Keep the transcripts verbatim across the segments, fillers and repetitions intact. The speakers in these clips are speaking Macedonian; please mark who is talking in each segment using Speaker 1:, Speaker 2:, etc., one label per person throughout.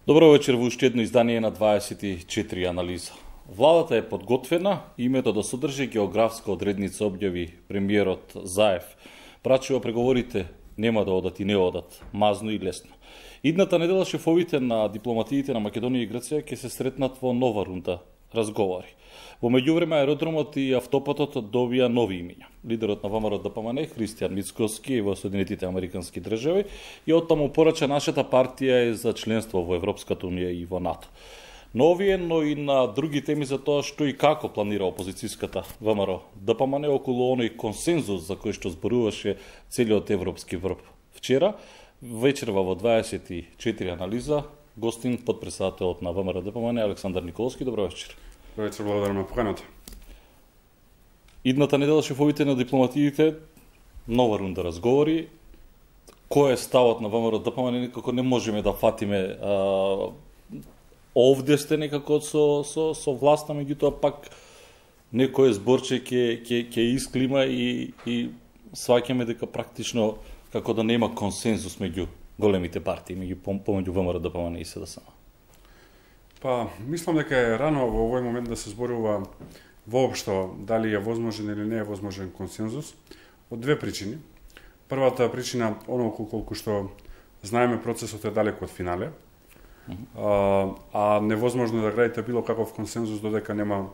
Speaker 1: Добро вечер во уште едно издание на дваесет и четири анализа. Владата е подготвена, името да содржи географска одредница објави премиерот Заев. Прачува преговорите нема да одат и не одат, мазно и лесно. Идната недела шефовите на дипломатиите на Македонија и Грција ќе се сретнат во нова рунда разговори. Во меѓувреме аеродромот и автопатот добија нови имиња. Лидерот на ВМРО ДПМН Христијан Мицкоски во Соединетите Американски држави и оттаму порача нашата партија е за членство во Европската унија и во НАТО. Но овие, но и на други теми за тоа што и како планира опозицијската ВМРО ДПМН околу оној консензус за кој што зборуваше целиот европски врв. Вчера вечерва во дваесет и четири анализа гостин подпредседателот на ВМРО ДПМН Александар Николовски. Добро вечер.
Speaker 2: Добро вечер, благодарам на поканата.
Speaker 1: Идната недела шефовите на дипломатиите нова рунда разговори. Кој е ставот на ВМРО ДПМН, некако не можеме да фатиме. А, овде сте некако со со со власта, меѓутоа пак некој зборче ќе ќе ќе исклима и и сваќаме дека практично како да нема консензус меѓу големите партии, меѓу помеѓу ВМРО ДПМН и СДСМ.
Speaker 2: Па, мислам дека е рано во овој момент да се зборува воопшто дали е возможен или не е возможен консензус од две причини. Првата причина, онолку колку што знаеме, процесот е далеку од финале, uh -huh. а, а невозможно да градите било каков консензус додека нема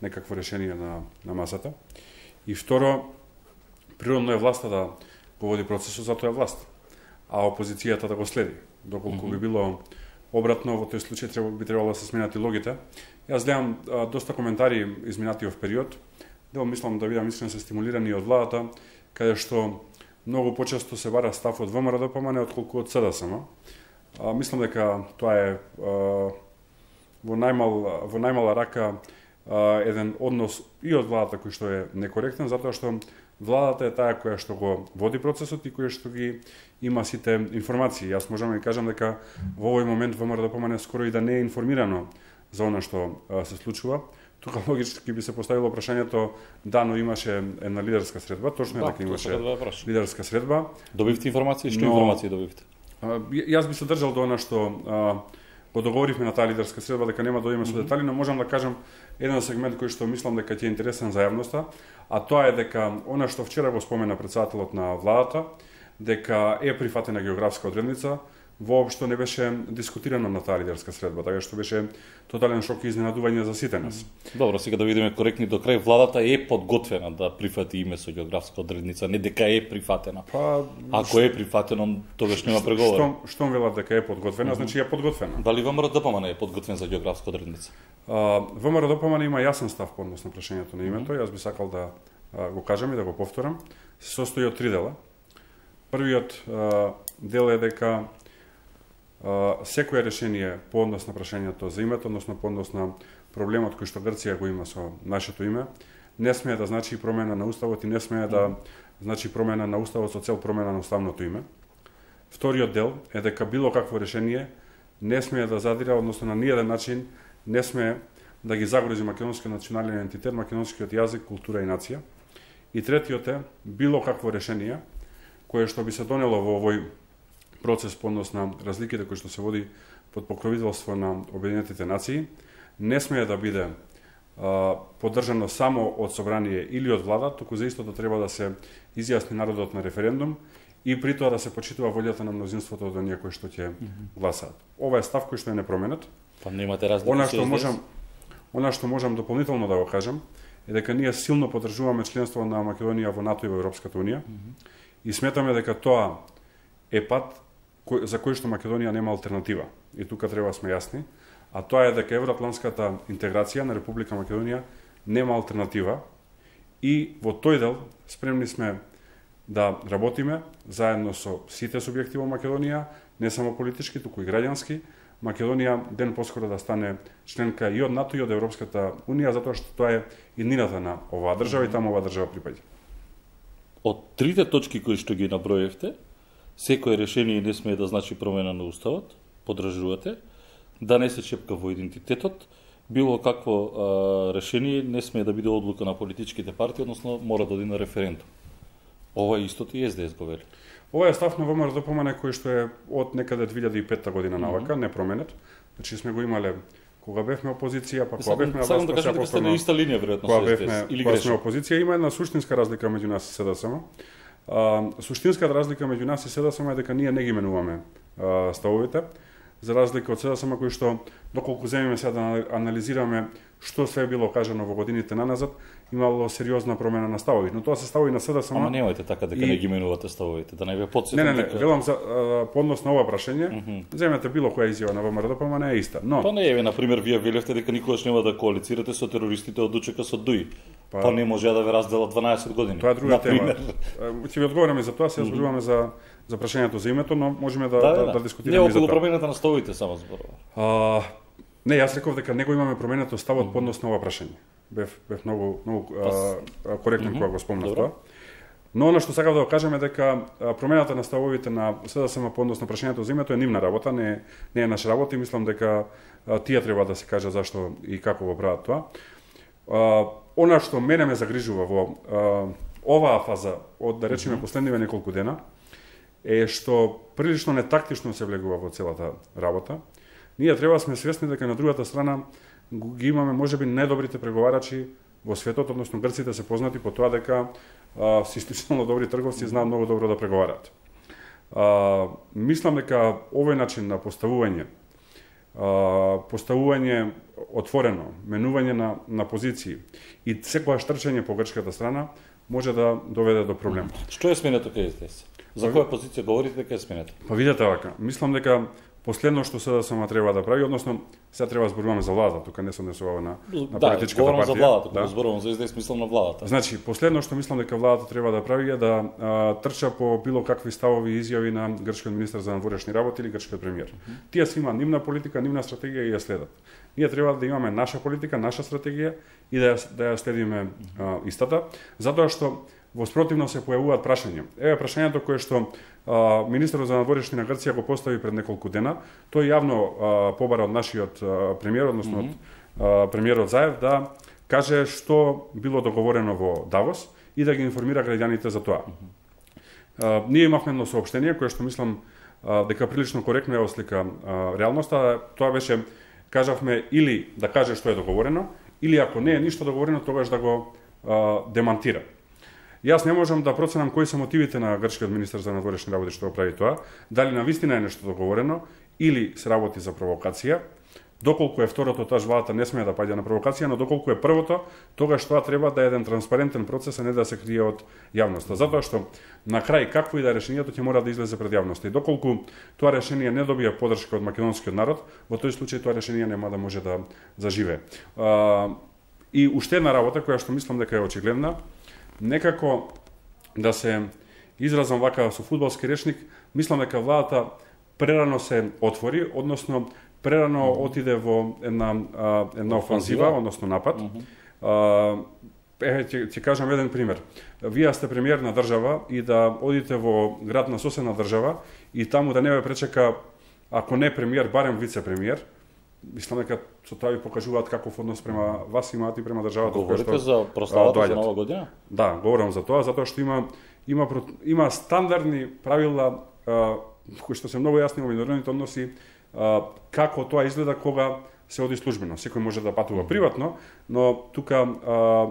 Speaker 2: некакво решение на, на масата. И второ, природно е власта да го води процесот, затоа е власт, а опозицијата да го следи. Доколку uh -huh. би било обратно, во тој случај треба, би требало да се сменат и логите. Јас гледам а, доста коментари изминатиот период, дел мислам да бидам искрен се стимулирани од владата, каде што многу почесто се бара став од ВМРО ДПМН отколку од СДСМ. А, мислам дека тоа е а, во најмал во најмала рака а, еден однос и од владата кој што е некоректен, затоа што владата е таа која што го води процесот и која што ги има сите информации. Јас можам да кажам дека во овој момент ВМРО ДПМН скоро и да не е информирано за она што а, се случува. Тука логички би се поставило прашањето, да, но имаше една лидерска средба, точно е
Speaker 1: да,
Speaker 2: дека имаше
Speaker 1: да
Speaker 2: лидерска средба.
Speaker 1: Добивте информации, што
Speaker 2: но,
Speaker 1: информации добивте?
Speaker 2: А, јас би се држал до она што а, го договоривме на таа лидерска средба, дека нема да одиме со детали, но можам да кажам еден сегмент кој што мислам дека ќе е интересен за јавноста, а тоа е дека она што вчера го спомена претседателот на владата, дека е прифатена географска одредница, воопшто не беше дискутирано на таа лидерска средба, така што беше тотален шок и изненадување за сите нас.
Speaker 1: Добро, сега да видиме коректни до крај. Владата е подготвена да прифати име со географска одредница, не дека е прифатена. Па, ако е прифатено, тогаш нема преговори.
Speaker 2: Што што велат дека е подготвена, mm -hmm. значи е подготвена.
Speaker 1: Дали ВМРО ДПМН е подготвен за географска одредница?
Speaker 2: А, ВМРО ДПМН има јасен став по однос на прашањето на името. Mm -hmm. Јас би сакал да а, го кажам и да го повторам. Се состои од три дела. Првиот а, дел е дека Uh, секое решение по однос на прашањето за името, односно по однос на проблемот кој што Грција го има со нашето име, не смее да значи промена на уставот и не смее да значи промена на уставот со цел промена на уставното име. Вториот дел е дека било какво решение не смее да задира, односно на ниеден начин не смее да ги загрози македонскиот национален идентитет, македонскиот јазик, култура и нација. И третиот е било какво решение кое што би се донело во овој процес по однос на разликите кои што се води под покровителство на Обединетите нации, не смее да биде а, поддржано само од собрание или од влада, туку за истото треба да се изјасни народот на референдум и при тоа да се почитува волјата на мнозинството од оние кои што ќе гласаат. Ова е став кој што е непроменет.
Speaker 1: Па немате разлика.
Speaker 2: Она што можам, она што можам дополнително да го кажам е дека ние силно поддржуваме членство на Македонија во НАТО и во Европската унија mm -hmm. и сметаме дека тоа е пат за кој што Македонија нема алтернатива. И тука треба да сме јасни. А тоа е дека евроатлантската интеграција на Република Македонија нема алтернатива и во тој дел спремни сме да работиме заедно со сите субјекти во Македонија, не само политички, туку и граѓански. Македонија ден поскоро да стане членка и од НАТО и од Европската унија, затоа што тоа е иднината на оваа држава и таму оваа држава припаѓа.
Speaker 1: Од трите точки кои што ги наброевте, секое решение не смее да значи промена на уставот, поддржувате, да не се чепка во идентитетот, било какво а, решение не смее да биде одлука на политичките партии, односно мора да оди на референдум. Ова истото и ес де ес го вели.
Speaker 2: Ова е став на ВМРО-ДПМН кој што е од некаде две илјади и петта година навака, mm -hmm. не променет. Значи сме го имале кога бевме опозиција, па кога бевме на власт,
Speaker 1: да кажете дека сте на иста линија веројатно
Speaker 2: кога бевме, или кога сме опозиција, има една суштинска разлика меѓу нас и СДСМ. А, суштинската разлика меѓу нас и СДСМ е дека ние не ги менуваме а, ставовите, за разлика од СДСМ кој што доколку земеме сега да анализираме што све било кажано во годините наназад, имало сериозна промена на ставови, но тоа се ставови на СДСМ.
Speaker 1: Ама немајте така дека и... не ги менувате ставовите, да не ве потсетам.
Speaker 2: Не, не, не,
Speaker 1: дека...
Speaker 2: велам за по однос на ова прашање, mm -hmm. земете било која изјава на ВМРО-ДПМН е иста, но
Speaker 1: Па не е, на пример, вие велевте дека никогаш нема да коалицирате со терористите од УЧК со ДУИ. Па, па не може да ве разделат дванаесет години.
Speaker 2: Тоа е друга тема. Ќе ви одговориме за тоа, се зборуваме mm -hmm. за за прашањето за името, но можеме да
Speaker 1: да,
Speaker 2: да,
Speaker 1: да,
Speaker 2: да дискутираме
Speaker 1: не,
Speaker 2: и за тоа.
Speaker 1: околу промената на ставовите само зборува.
Speaker 2: А, не, јас реков дека него имаме променето ставот mm -hmm. по однос на ова прашање. Бев бев многу многу а, коректен mm -hmm. кога го спомнав тоа. Но она што сакав да го кажам е дека промената на ставовите на СДСМ по однос на прашањето за името е нивна работа, не не е наша работа и мислам дека а, тие треба да се каже зашто и како го прават тоа. А, она што мене ме загрижува во а, оваа фаза од да речеме mm -hmm. последниве неколку дена е што прилично нетактично се влегува во целата работа. Ние треба сме свесни дека на другата страна ги имаме можеби најдобрите преговарачи во светот, односно грците се познати по тоа дека а, се исклучително добри трговци, знаат многу добро да преговараат. А, мислам дека овој начин на поставување, а, поставување отворено, менување на, на позиции и секогаш трчање по грчката страна може да доведе до проблем.
Speaker 1: Што е сменето кај СДС? За која позиција говорите дека е сменето?
Speaker 2: Па видете вака, мислам дека последно што СДСМ треба да прави, односно сега треба да зборуваме за владата, тука не се однесува на, на
Speaker 1: да,
Speaker 2: политичката партија.
Speaker 1: Да, за владата, кога да. зборувам за СДС, мислам на владата.
Speaker 2: Значи, последно што мислам дека владата треба да прави е да а, трча по било какви ставови и изјави на грчкиот министер за надворешни работи или грчкиот премиер. Mm -hmm. Тие си има нивна политика, нивна стратегија и ја следат. Ние треба да имаме наша политика, наша стратегија и да ја, да ја следиме а, истата, затоа што во спротивно се појавуваат прашања. Еве прашањето кое што а, министерот за надворешни на Грција го постави пред неколку дена, тој јавно а, побара од нашиот а, премиер, односно mm -hmm. од а, премиерот Заев да каже што било договорено во Давос и да ги информира граѓаните за тоа. Mm -hmm. а, ние имавме едно соопштение кое што мислам а, дека прилично коректно ја ослика а, реалноста. Тоа беше, кажавме, или да каже што е договорено, или ако не е ништо договорено, тогаш да го а, демантира. Јас не можам да проценам кои се мотивите на грчкиот министер за надворешни работи што го прави тоа, дали навистина е нешто договорено или се работи за провокација. Доколку е второто, таа владата не смее да паѓа на провокација, но доколку е првото, тогаш тоа треба да е еден транспарентен процес, а не да се крие од јавноста. Затоа што на крај какво и да е решението ќе мора да излезе пред јавноста. И доколку тоа решение не добија поддршка од македонскиот народ, во тој случај тоа решение нема да може да заживее. И уште една работа која што мислам дека е очигледна, некако да се изразам вака со фудбалски речник, мислам дека владата прерано се отвори, односно прерано mm -hmm. отиде во една а, една офанзива, односно напад. Mm -hmm. а, е, ќе, ќе кажам еден пример. Вие сте премиер на држава и да одите во град на соседна држава и таму да не ве пречека, ако не премиер, барем вице-премиер. Мислам дека со тоа ви покажуваат каков однос према вас имаат и према државата.
Speaker 1: Говорите за прославата за Нова година?
Speaker 2: Да, говорам за тоа, затоа што има има има стандардни правила а, кои што се многу јасни во меѓународните односи, а, како тоа изгледа кога се оди службено. Секој може да патува приватно, но тука а,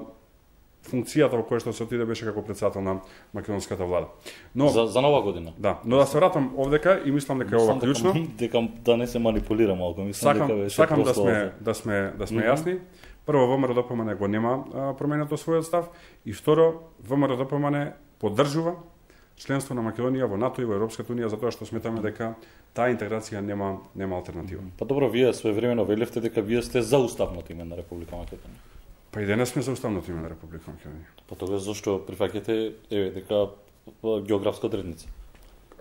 Speaker 2: функцијата во која што се отиде беше како председател на македонската влада. Но
Speaker 1: за, за Нова година.
Speaker 2: Да, но да се вратам овдека и мислам дека е ова клучно.
Speaker 1: Дека, дека да не се манипулира малку, мислам
Speaker 2: сакам,
Speaker 1: дека беше
Speaker 2: сакам да сме да сме да сме mm -hmm. јасни. Прво, ВМРО-ДПМН го нема а, променето својот став и второ, ВМРО-ДПМН поддржува членство на Македонија во НАТО и во Европската унија затоа што сметаме дека таа интеграција нема нема алтернатива.
Speaker 1: Па добро, вие своевремено велевте дека вие сте за уставното име на Република Македонија.
Speaker 2: Па и денес сме за уставното име на Република Македонија.
Speaker 1: Па тогаш зашто прифаќате еве дека географска одредница?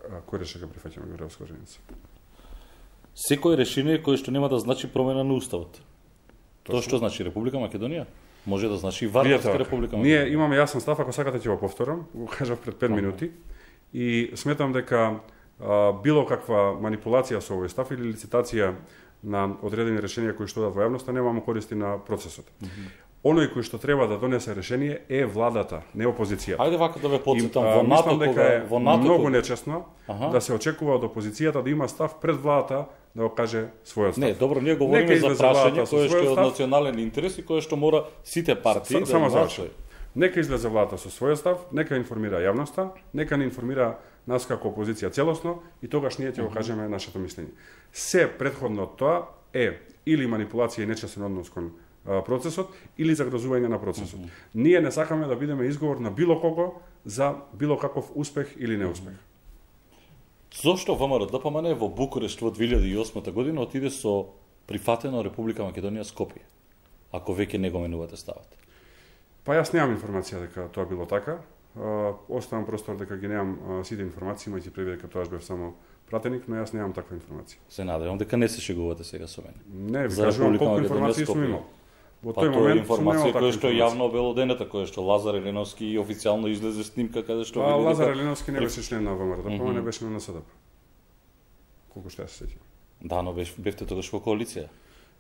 Speaker 2: А, кој реше дека прифаќаме географска одредница?
Speaker 1: Секој решение кое што нема да значи промена на уставот. Тоа што значи Република Македонија? Може да значи Вардарска Република Македонија.
Speaker 2: Ние имаме јасен став, ако сакате ќе го повторам, го кажав пред пет минути и сметам дека а, било каква манипулација со овој став или лицитација на одредени решенија кои што дадат во јавноста нема користи на процесот. Mm -hmm. оној кој што треба да донесе решение е владата, не опозицијата.
Speaker 1: Ајде вака да ве потсетам,
Speaker 2: во
Speaker 1: НАТО кога
Speaker 2: во НАТО многу
Speaker 1: кога...
Speaker 2: нечесно ага. да се очекува од опозицијата да има став пред владата да го каже својот став.
Speaker 1: Не, добро, ние говориме за прашање кое што е од национален интерес и кое што мора сите партии да
Speaker 2: само заврши. Нека излезе владата со својот став, нека информира јавноста, нека не информира нас како опозиција целосно и тогаш ние ќе го кажеме нашето мислење. Се претходно од тоа е или манипулација и нечестен однос кон процесот или загрозување на процесот. Mm -hmm. Ние не сакаме да бидеме изговор на било кого за било каков успех или неуспех. Mm
Speaker 1: -hmm. Зошто ВМРО-ДПМН во Букурешт во две илјади и осма година отиде со прифатено Република Македонија Скопје, ако веќе не го менувате ставот?
Speaker 2: Па јас немам информација дека тоа било така. Оставам простор дека ги немам сите информации, имајќи предвид дека тоа бев само пратеник, но јас немам таква информација.
Speaker 1: Се надевам дека не се шегувате сега со мене.
Speaker 2: Не, ви кажувам колку информации сум имал.
Speaker 1: Во тој па, момент информација која што е јавно обелоденета, која што Лазар Еленовски официјално излезе снимка каде што
Speaker 2: види дека Лазар Еленовски не беше член на ВМРО, да mm-hmm. не беше на НСДП. Колку што ја се сеќам.
Speaker 1: Да, но беше бевте тогаш во коалиција.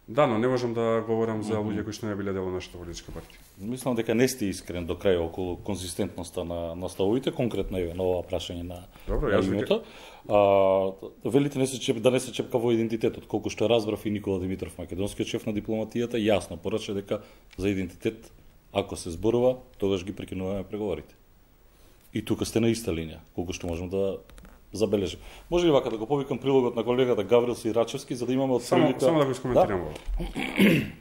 Speaker 2: Да, но не можам да говорам за луѓе кои што не биле дел од нашата политичка партија.
Speaker 1: Мислам дека не сте искрен до крај околу конзистентноста на на ставовите, конкретно еве на ова прашање на
Speaker 2: Добро, јас
Speaker 1: името. А велите не се чеп, да не се чепка во идентитетот, колку што разбрав и Никола Димитров, македонскиот шеф на дипломатијата, јасно порача дека за идентитет ако се зборува, тогаш ги прекинуваме преговорите. И тука сте на иста линија, колку што можам да забележим. Може ли вака да го повикам прилогот на колегата Гаврил Сирачевски за да имаме од
Speaker 2: прилика... Само, само да го искоментирам да?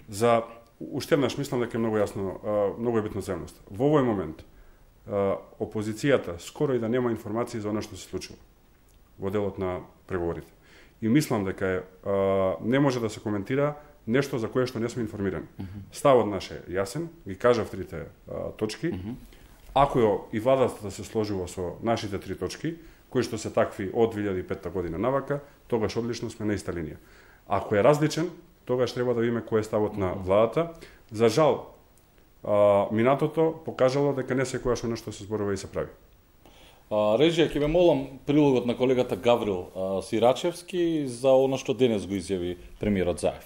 Speaker 2: За уште еднаш мислам дека е многу јасно, многу е битно земност. Во овој момент опозицијата скоро и да нема информации за она што се случува во делот на преговорите. И мислам дека е, не може да се коментира нешто за кое што не сме информирани. Uh -huh. Ставот наш е јасен, ги кажав трите а, точки. Uh -huh. Ако и владата да се сложува со нашите три точки, кои што се такви од две илјади и петта година навака, тогаш одлично сме на иста линија. Ако е различен, тогаш треба да видиме кој е ставот на владата. За жал, а, минатото покажало дека не секојаш нешто се зборува и се прави.
Speaker 1: А, режија, ќе ме молам прилогот на колегата Гаврил а, Сирачевски за оно што денес го изјави премиерот Заев.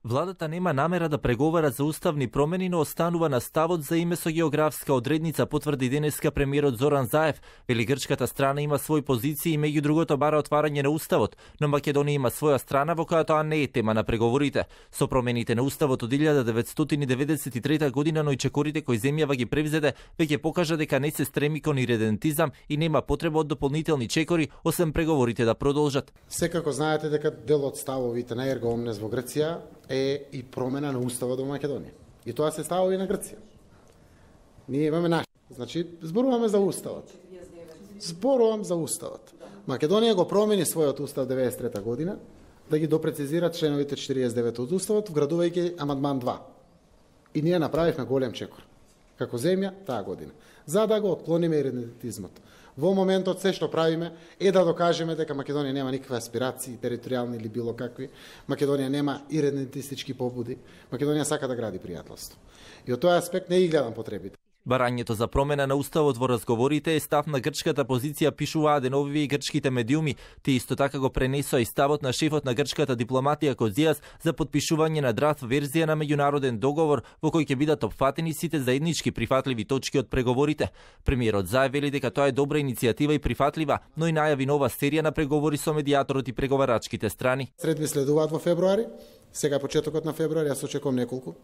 Speaker 3: Владата нема намера да преговара за уставни промени, но останува на ставот за име со географска одредница, потврди денеска премиерот Зоран Заев. Вели грчката страна има своји позиции и меѓу другото бара отварање на уставот, но Македонија има своја страна во која тоа не е тема на преговорите. Со промените на уставот од илјада деветстотини деветдесет и трета година, но и чекорите кои земјава ги превзеде, веќе покажа дека не се стреми кон иредентизам и нема потреба од дополнителни чекори, освен преговорите да продолжат.
Speaker 4: Секако знаете дека дел од ставовите на Ерго Омнес во Грција е и промена на уставот во Македонија. И тоа се ставува и на Грција. Ние имаме наш. Значи, зборуваме за уставот. Зборувам за уставот. Македонија го промени својот устав деветдесет и трета година да ги допрецизира членовите четириесет и девет од уставот, вградувајќи амандман два. И ние направивме голем чекор. Како земја таа година. За да го отклониме иредентизмот. Во моментот се што правиме е да докажеме дека Македонија нема никакви аспирации, територијални или било какви. Македонија нема иредентистички побуди. Македонија сака да гради пријателство. И од тој аспект не ги гледам потребите.
Speaker 3: Барањето за промена на уставот во разговорите е став на грчката позиција, пишуваа деновиве и грчките медиуми. Ти исто така го пренесоа и ставот на шефот на грчката дипломатија Козијас за подпишување на драфт верзија на меѓународен договор во кој ќе бидат опфатени сите заеднички прифатливи точки од преговорите. Премиерот Заев вели дека тоа е добра иницијатива и прифатлива, но и најави нова серија на преговори со медијаторот и преговарачките страни.
Speaker 4: Средби следуваат во февруари, сега почетокот на февруари, јас очекувам неколку,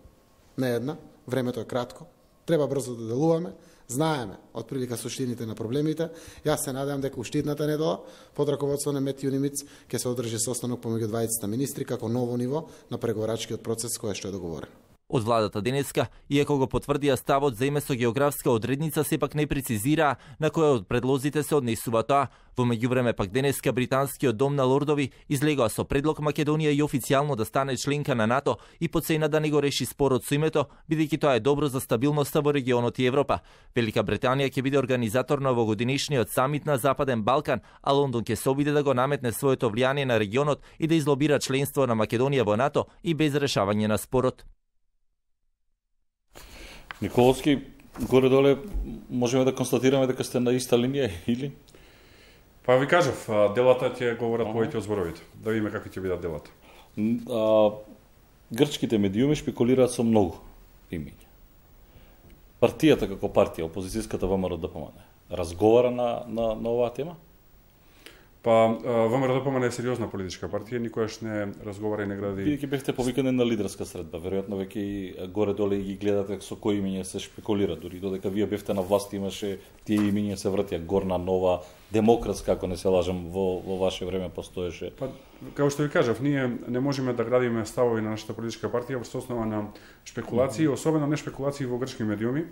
Speaker 4: не една, времето е кратко. Треба брзо да делуваме, знаеме од прилика суштините на проблемите. Јас се надевам дека уштидната недела под раководство на Мет Јунимиц ќе се одржи состанок помеѓу дваесет министри како ново ниво на преговарачкиот процес кој што е договорен.
Speaker 3: Од владата денеска, иако го потврдија ставот за име со географска одредница, сепак не прецизираа на кој од предлозите се однесува тоа. Во меѓувреме пак денеска британскиот дом на лордови излегоа со предлог Македонија и официјално да стане членка на НАТО и по цена да не го реши спорот со името, бидејќи тоа е добро за стабилноста во регионот и Европа. Велика Британија ќе биде организатор на овогодинешниот самит на Западен Балкан, а Лондон ќе се обиде да го наметне своето влијание на регионот и да излобира членство на Македонија во НАТО и без решавање на спорот.
Speaker 1: Николовски, горе-доле можеме да констатираме дека сте на иста линија или?
Speaker 2: Па ви кажав, делата ќе говорат повеќе од зборовите. Да видиме какви ќе бидат делата.
Speaker 1: А, грчките медиуми шпекулираат со многу имиња. Партијата како партија, опозицијската ВМРО-ДПМН, разговара на, на, на оваа тема?
Speaker 2: Па, ВМРО-ДПМН е сериозна политичка партија, никогаш не разговара и не гради...
Speaker 1: Вие ќе бевте повикани на лидерска средба, веројатно веќе и горе-доле ги гледате со кои имиња се шпекулира, дури додека вие бевте на власт имаше тие имиња се вртија, Горна, Нова, Демократска, ако не се лажам, во, во ваше време постоеше.
Speaker 2: Па, како што ви кажав, ние не можеме да градиме ставови на нашата политичка партија врз основа на шпекулации, mm-hmm. особено не шпекулации во грчки медиуми,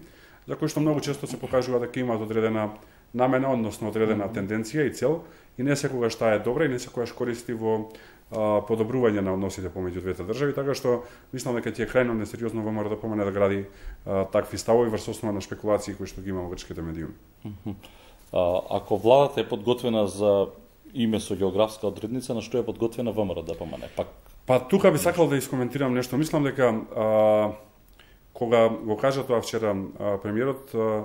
Speaker 2: за кои што многу често се покажува дека имаат одредена намена, односно одредена mm-hmm. тенденција и цел, и не секогаш таа е добра и не секогаш користи во а, подобрување на односите помеѓу двете држави, така што мислам дека ќе е крајно несериозно ВМРО-ДПМН да гради а, такви ставови врз основа на шпекулации кои што ги има во грчките медиуми.
Speaker 1: Mm-hmm. а, ако владата е подготвена за име со географска одредница, на што е подготвена ВМРО-ДПМН? Пак
Speaker 2: Па тука би сакал да искоментирам нешто. Мислам дека а, кога го кажа тоа вчера а, премиерот, а,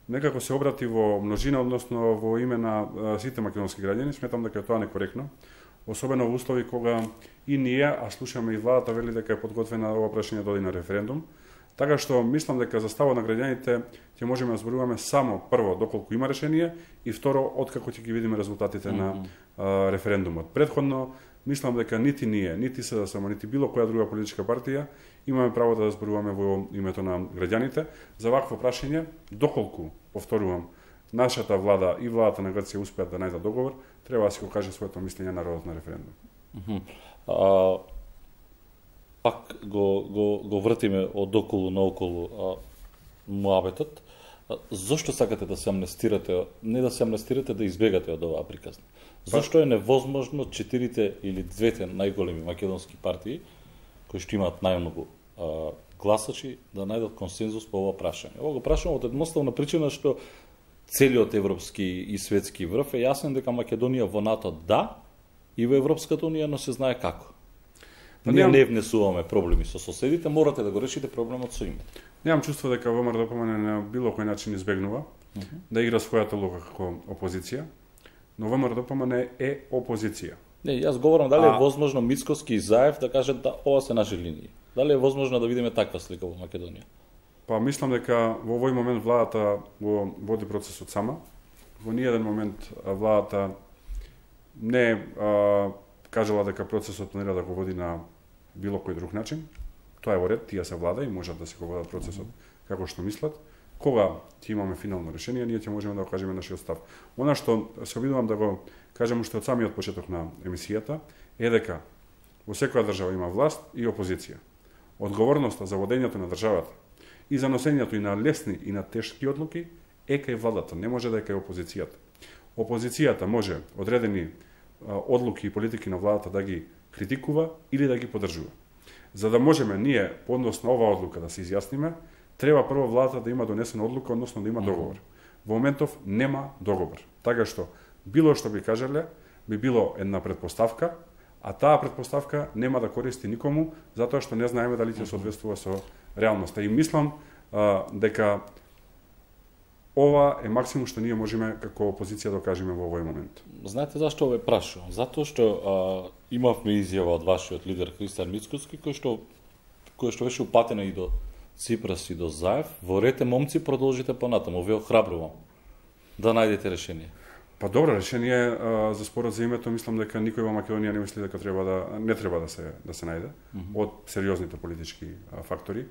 Speaker 2: некако се обрати во множина, односно во име на а, сите македонски граѓани. Сметам дека тоа некоректно, особено во услови кога и ние, а слушаме и владата вели дека е подготвена ова прашање да оди на референдум. Така што мислам дека за ставот на граѓаните ќе можеме да зборуваме само прво доколку има решение и второ откако ќе ги видиме резултатите mm-hmm. на а, референдумот. Претходно мислам дека нити ние, нити СДСМ, нити било која друга политичка партија имаме право да зборуваме во името на граѓаните за вакво прашање, доколку, повторувам, нашата влада и владата на Грција успеат да најдат договор, треба да си го каже своето мислење народот на референдум.
Speaker 1: Mm-hmm. а, пак го, го, го вртиме од околу наоколу муабетот. Зошто сакате да се амнестирате, не да се амнестирате, да избегате од оваа приказна? Зошто е невозможно четирите или двете најголеми македонски партии, кои што имаат најмногу а, гласачи, да најдат консензус по ова прашање? Ова го прашам од едноставна причина што целиот европски и светски врв е јасен дека Македонија во НАТО да, и во Европската унија, но се знае како. Ние не внесуваме проблеми со соседите, морате да го решите проблемот со име.
Speaker 2: Немам чувство дека ВМРО-ДПМН на било кој начин избегнува uh-huh. да игра својата улога како опозиција, но ВМРО-ДПМН е опозиција.
Speaker 1: Не, јас говорам дали а... е возможно Мицкоски и Заев да кажат да ова се наши линии. Дали е возможно да видиме таква слика во Македонија?
Speaker 2: Па мислам дека во овој момент владата го води процесот сама. Во ниеден момент владата не а, кажала дека процесот планира да го води на било кој друг начин. Тоа е во ред, тие се влада и можат да се го водат процесот mm-hmm. како што мислат. Кога ќе имаме финално решение, ние ќе можеме да го кажеме нашиот став. Она што се обидувам да го кажам уште од самиот почеток на емисијата е дека во секоја држава има власт и опозиција. Одговорноста за водењето на државата и за носењето и на лесни и на тешки одлуки е кај владата, не може да е кај опозицијата. Опозицијата може одредени одлуки и политики на владата да ги критикува или да ги поддржува. За да можеме ние по однос на оваа одлука да се изјасниме, треба прво владата да има донесена одлука, односно да има договор. Во моментов нема договор. Така што било што би кажале би било една предпоставка, а таа предпоставка нема да користи никому затоа што не знаеме дали ќе соодветствува со реалноста. И мислам а, дека ова е максимум што ние можеме како опозиција да кажеме во овој момент.
Speaker 1: Знаете зашто ве прашувам? Затоа што а, имавме изјава од вашиот лидер Христијан Мицкоски, кој што кој што беше упатена и до Ципрас и до Заев. Во рете момци, продолжите понатаму, ве охрабрувам да најдете решение.
Speaker 2: Па добро решение а, за спорот за името, мислам дека никој во Македонија не мисли дека треба да не треба да се да се најде mm-hmm. од сериозните политички а, фактори.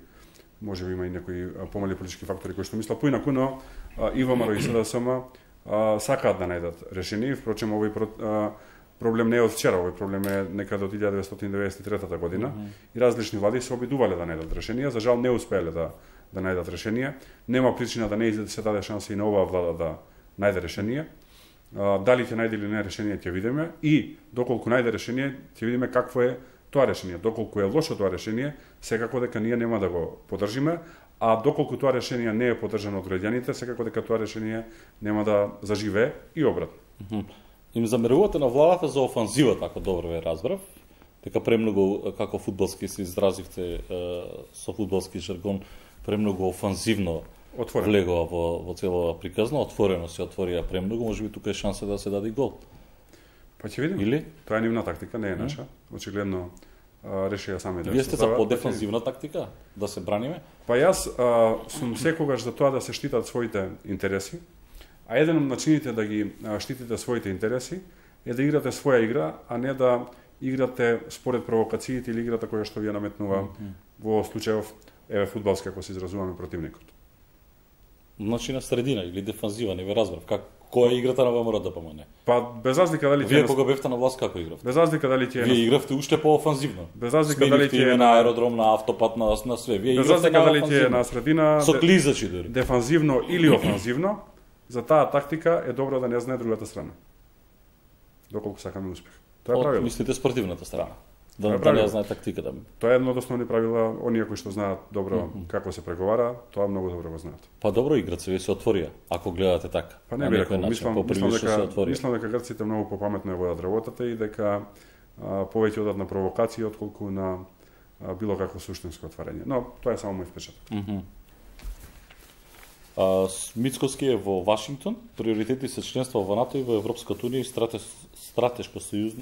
Speaker 2: Може би има и некои помали политички фактори кои што мислат поинаку, но а, и ВМРО и СДСМ а, сакаат да најдат решение. Впрочем, овој а, проблем не е од вчера, овој проблем е некаде од илјада деветстотини деветдесет и трета година mm-hmm. и различни влади се обидувале да најдат решение, за жал не успеале да да најдат решение. Нема причина да не се даде шанса и на оваа влада да најде решение. А, дали ќе најде или не решение ќе видиме и доколку најде решение ќе видиме какво е тоа решение. Доколку е лошо тоа решение, секако дека ние нема да го поддржиме, а доколку тоа решение не е поддржано од граѓаните, секако дека тоа решение нема да заживее и обратно.
Speaker 1: Mm-hmm. Им замерувате на владата за офанзивата, ако добро ве разбрав, дека премногу, како фудбалски се изразивте со фудбалски жаргон, премногу офанзивно отворено влегува во, во целова приказна, отворено се отворија премногу, може би тука е шанса да се даде гол.
Speaker 2: Па ќе видиме.
Speaker 1: Или?
Speaker 2: Тоа е нивна тактика, не е наша. Очигледно решија сами да.
Speaker 1: Вие сте за подефанзивна тактика, да се браниме?
Speaker 2: Па јас а, сум секогаш за тоа да се штитат своите интереси, а еден од начините да ги а, штитите своите интереси е да играте своја игра, а не да играте според провокациите или играта која што ви ја наметнува mm -hmm. во случајов еве фудбалски, ако се изразуваме, противникот.
Speaker 1: Значи на средина или дефанзива, не ве разбрав. Как која е играта на ВМРО да помане?
Speaker 2: Па без разлика дали
Speaker 1: Вие кога бевте на власт како игравте?
Speaker 2: Без разлика дали ќе
Speaker 1: Вие игравте уште по-офанзивно.
Speaker 2: Без разлика дали ќе
Speaker 1: е на аеродром, на автопат, на на све. Вие
Speaker 2: без разлика дали ќе на средина
Speaker 1: со клизачи дори.
Speaker 2: Дефанзивно или офанзивно, за таа тактика е добро да не знае другата страна. Доколку сакаме успех. Тоа е правило.
Speaker 1: Мислите спортивната страна. Да, да не знае тактиката.
Speaker 2: Тоа е едно од основни правила, оние кои што знаат добро mm -hmm. како се преговара, тоа многу добро го знаат.
Speaker 1: Па добро, играце ви се отворија, ако гледате така.
Speaker 2: Па не би рекол, мислам, мислам дека мислам дека грците многу попаметно ја водат работата и дека а, повеќе одат на провокации отколку на а, било какво суштинско отварање. Но тоа е само мој впечаток.
Speaker 1: Mm -hmm. А, Мицковски е во Вашингтон, приоритети се членство во НАТО и во Европската унија и стратеш, стратешко сојуз,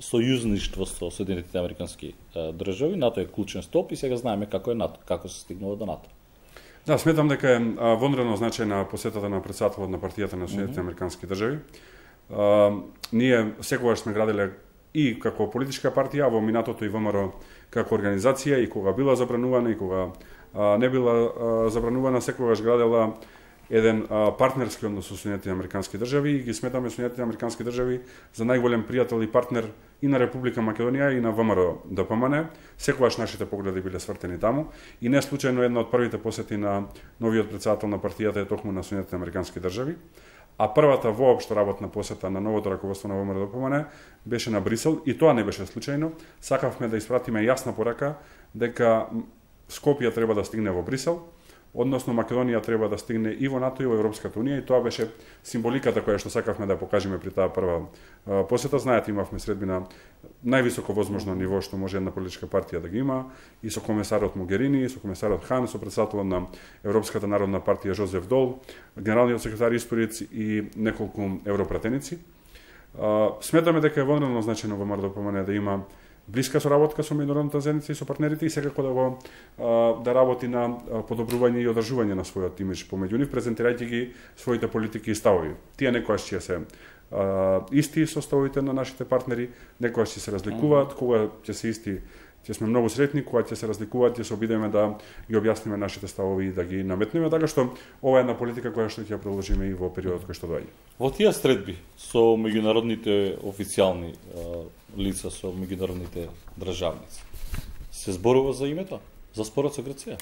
Speaker 1: сојузништво со Соединетите американски а, држави. НАТО е клучен столб и сега знаеме како е НАТО, како се стигнува до НАТО.
Speaker 2: Да, сметам дека е вонредно значајна посетата на претседателот на партијата на Соединетите американски држави. А, ние секогаш сме градиле и како политичка партија, во минатото и ВМРО како организација, и кога била забранувана и кога а, не била а, забранувана, секогаш градела еден а, партнерски однос со Соединетите американски држави и ги сметаме Соединетите американски држави за најголем пријател и партнер и на Република Македонија и на ВМРО д П М Н. Секогаш нашите погледи биле свртени таму и не случајно една од првите посети на новиот претседател на партијата е токму на Соединетите американски држави. А првата воопшто работна посета на новото раководство на ВМРО д П М Н беше на Брисел и тоа не беше случајно. Сакавме да испратиме јасна порака дека Скопје треба да стигне во Брисел, односно Македонија треба да стигне и во НАТО и во Европската унија, и тоа беше символиката која што сакавме да покажеме при таа прва а, посета. Знаете, имавме средби на највисоко возможно ниво што може една политичка партија да ги има, и со комесарот Могерини, и со комесарот Хан, со претседателот на Европската народна партија Жозеф Дол, генералниот секретар Испориц и неколку европратеници. А, сметаме дека е вонредно значајно во ВМРО д П М Н да има блиска соработка со меѓународната заедница и со партнерите и секако да го да работи на подобрување и одржување на својот имидж помеѓу нив, презентирајќи ги своите политики и ставови. Тие некојаш ќе се а, исти со ставовите на нашите партнери, некојаш ќе се разликуваат, кога ќе се исти, ќе сме многу сретни, кога ќе се разликуваат, ќе се обидеме да ги објасниме нашите ставови и да ги наметнеме, така што ова е една политика која што ќе ја продолжиме и во периодот кој што доаѓа.
Speaker 1: Во тие средби со меѓународните официјални лица, со меѓународните државници, се зборува за името, за спорот со Грција?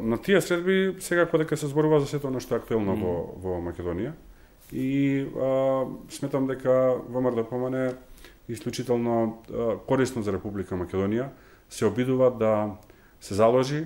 Speaker 2: На тие средби секако дека се зборува за сето нешто актуелно mm. во, во Македонија и а, сметам дека ВМРО д П М Н исклучително а, корисно за Република Македонија се обидува да се заложи,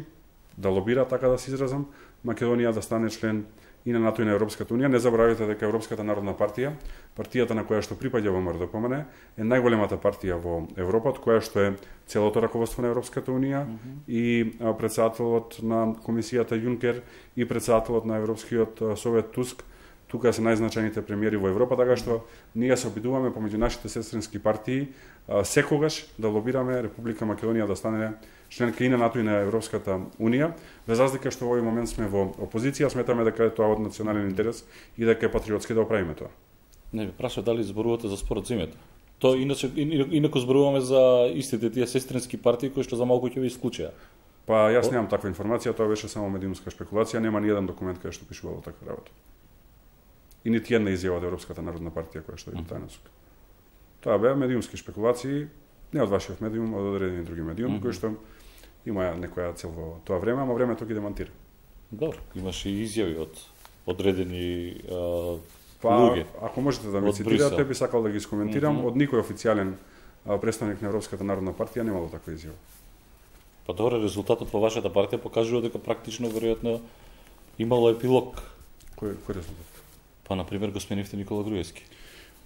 Speaker 2: да лобира, така да се изразам, Македонија да стане член и на НАТО и на Европската унија. Не забравяйте дека Европската народна партија, партијата на која што припаѓа во ВМРО д П М Н, е најголемата партија во Европа, од која што е целото раководство на Европската унија mm -hmm. и претседателот на комисијата Јункер и претседателот на Европскиот совет Туск. Тука се најзначајните премиери во Европа, така што ние се обидуваме помеѓу нашите сестрински партии секогаш да лобираме Република Македонија да стане членка и на НАТО и на Европската унија, без разлика што во овој момент сме во опозиција, сметаме дека е тоа од национален интерес и дека е патриотски да оправиме тоа.
Speaker 1: Не ви праша дали зборувате за спорот зимето. Тоа иначе инаку зборуваме за истите тие сестрински партии кои што за малку ќе ви исклучеа.
Speaker 2: Па јас немам таква информација, тоа беше само медиумска шпекулација, нема ни еден документ кај што пишувало таква работа. И нити една изјава од Европската народна партија која што е таа насока. Тоа беа медиумски шпекулации, не од вашиот медиум, од одредени други медиум, mm -hmm. кои што има некоја цел во тоа време, ама времето ги демантира.
Speaker 1: Добро, имаше и изјави од одредени а,
Speaker 2: па,
Speaker 1: луѓе.
Speaker 2: Ако можете да ме цитирате, би сакал да ги скоментирам. Mm -hmm. Од никој официјален представник на Европската народна партија немало таква изјава.
Speaker 1: Па добро, резултатот во вашата партија покажува дека практично веројатно имало епилог.
Speaker 2: Кој кој резултат?
Speaker 1: Па на пример го сменивте Никола Груевски.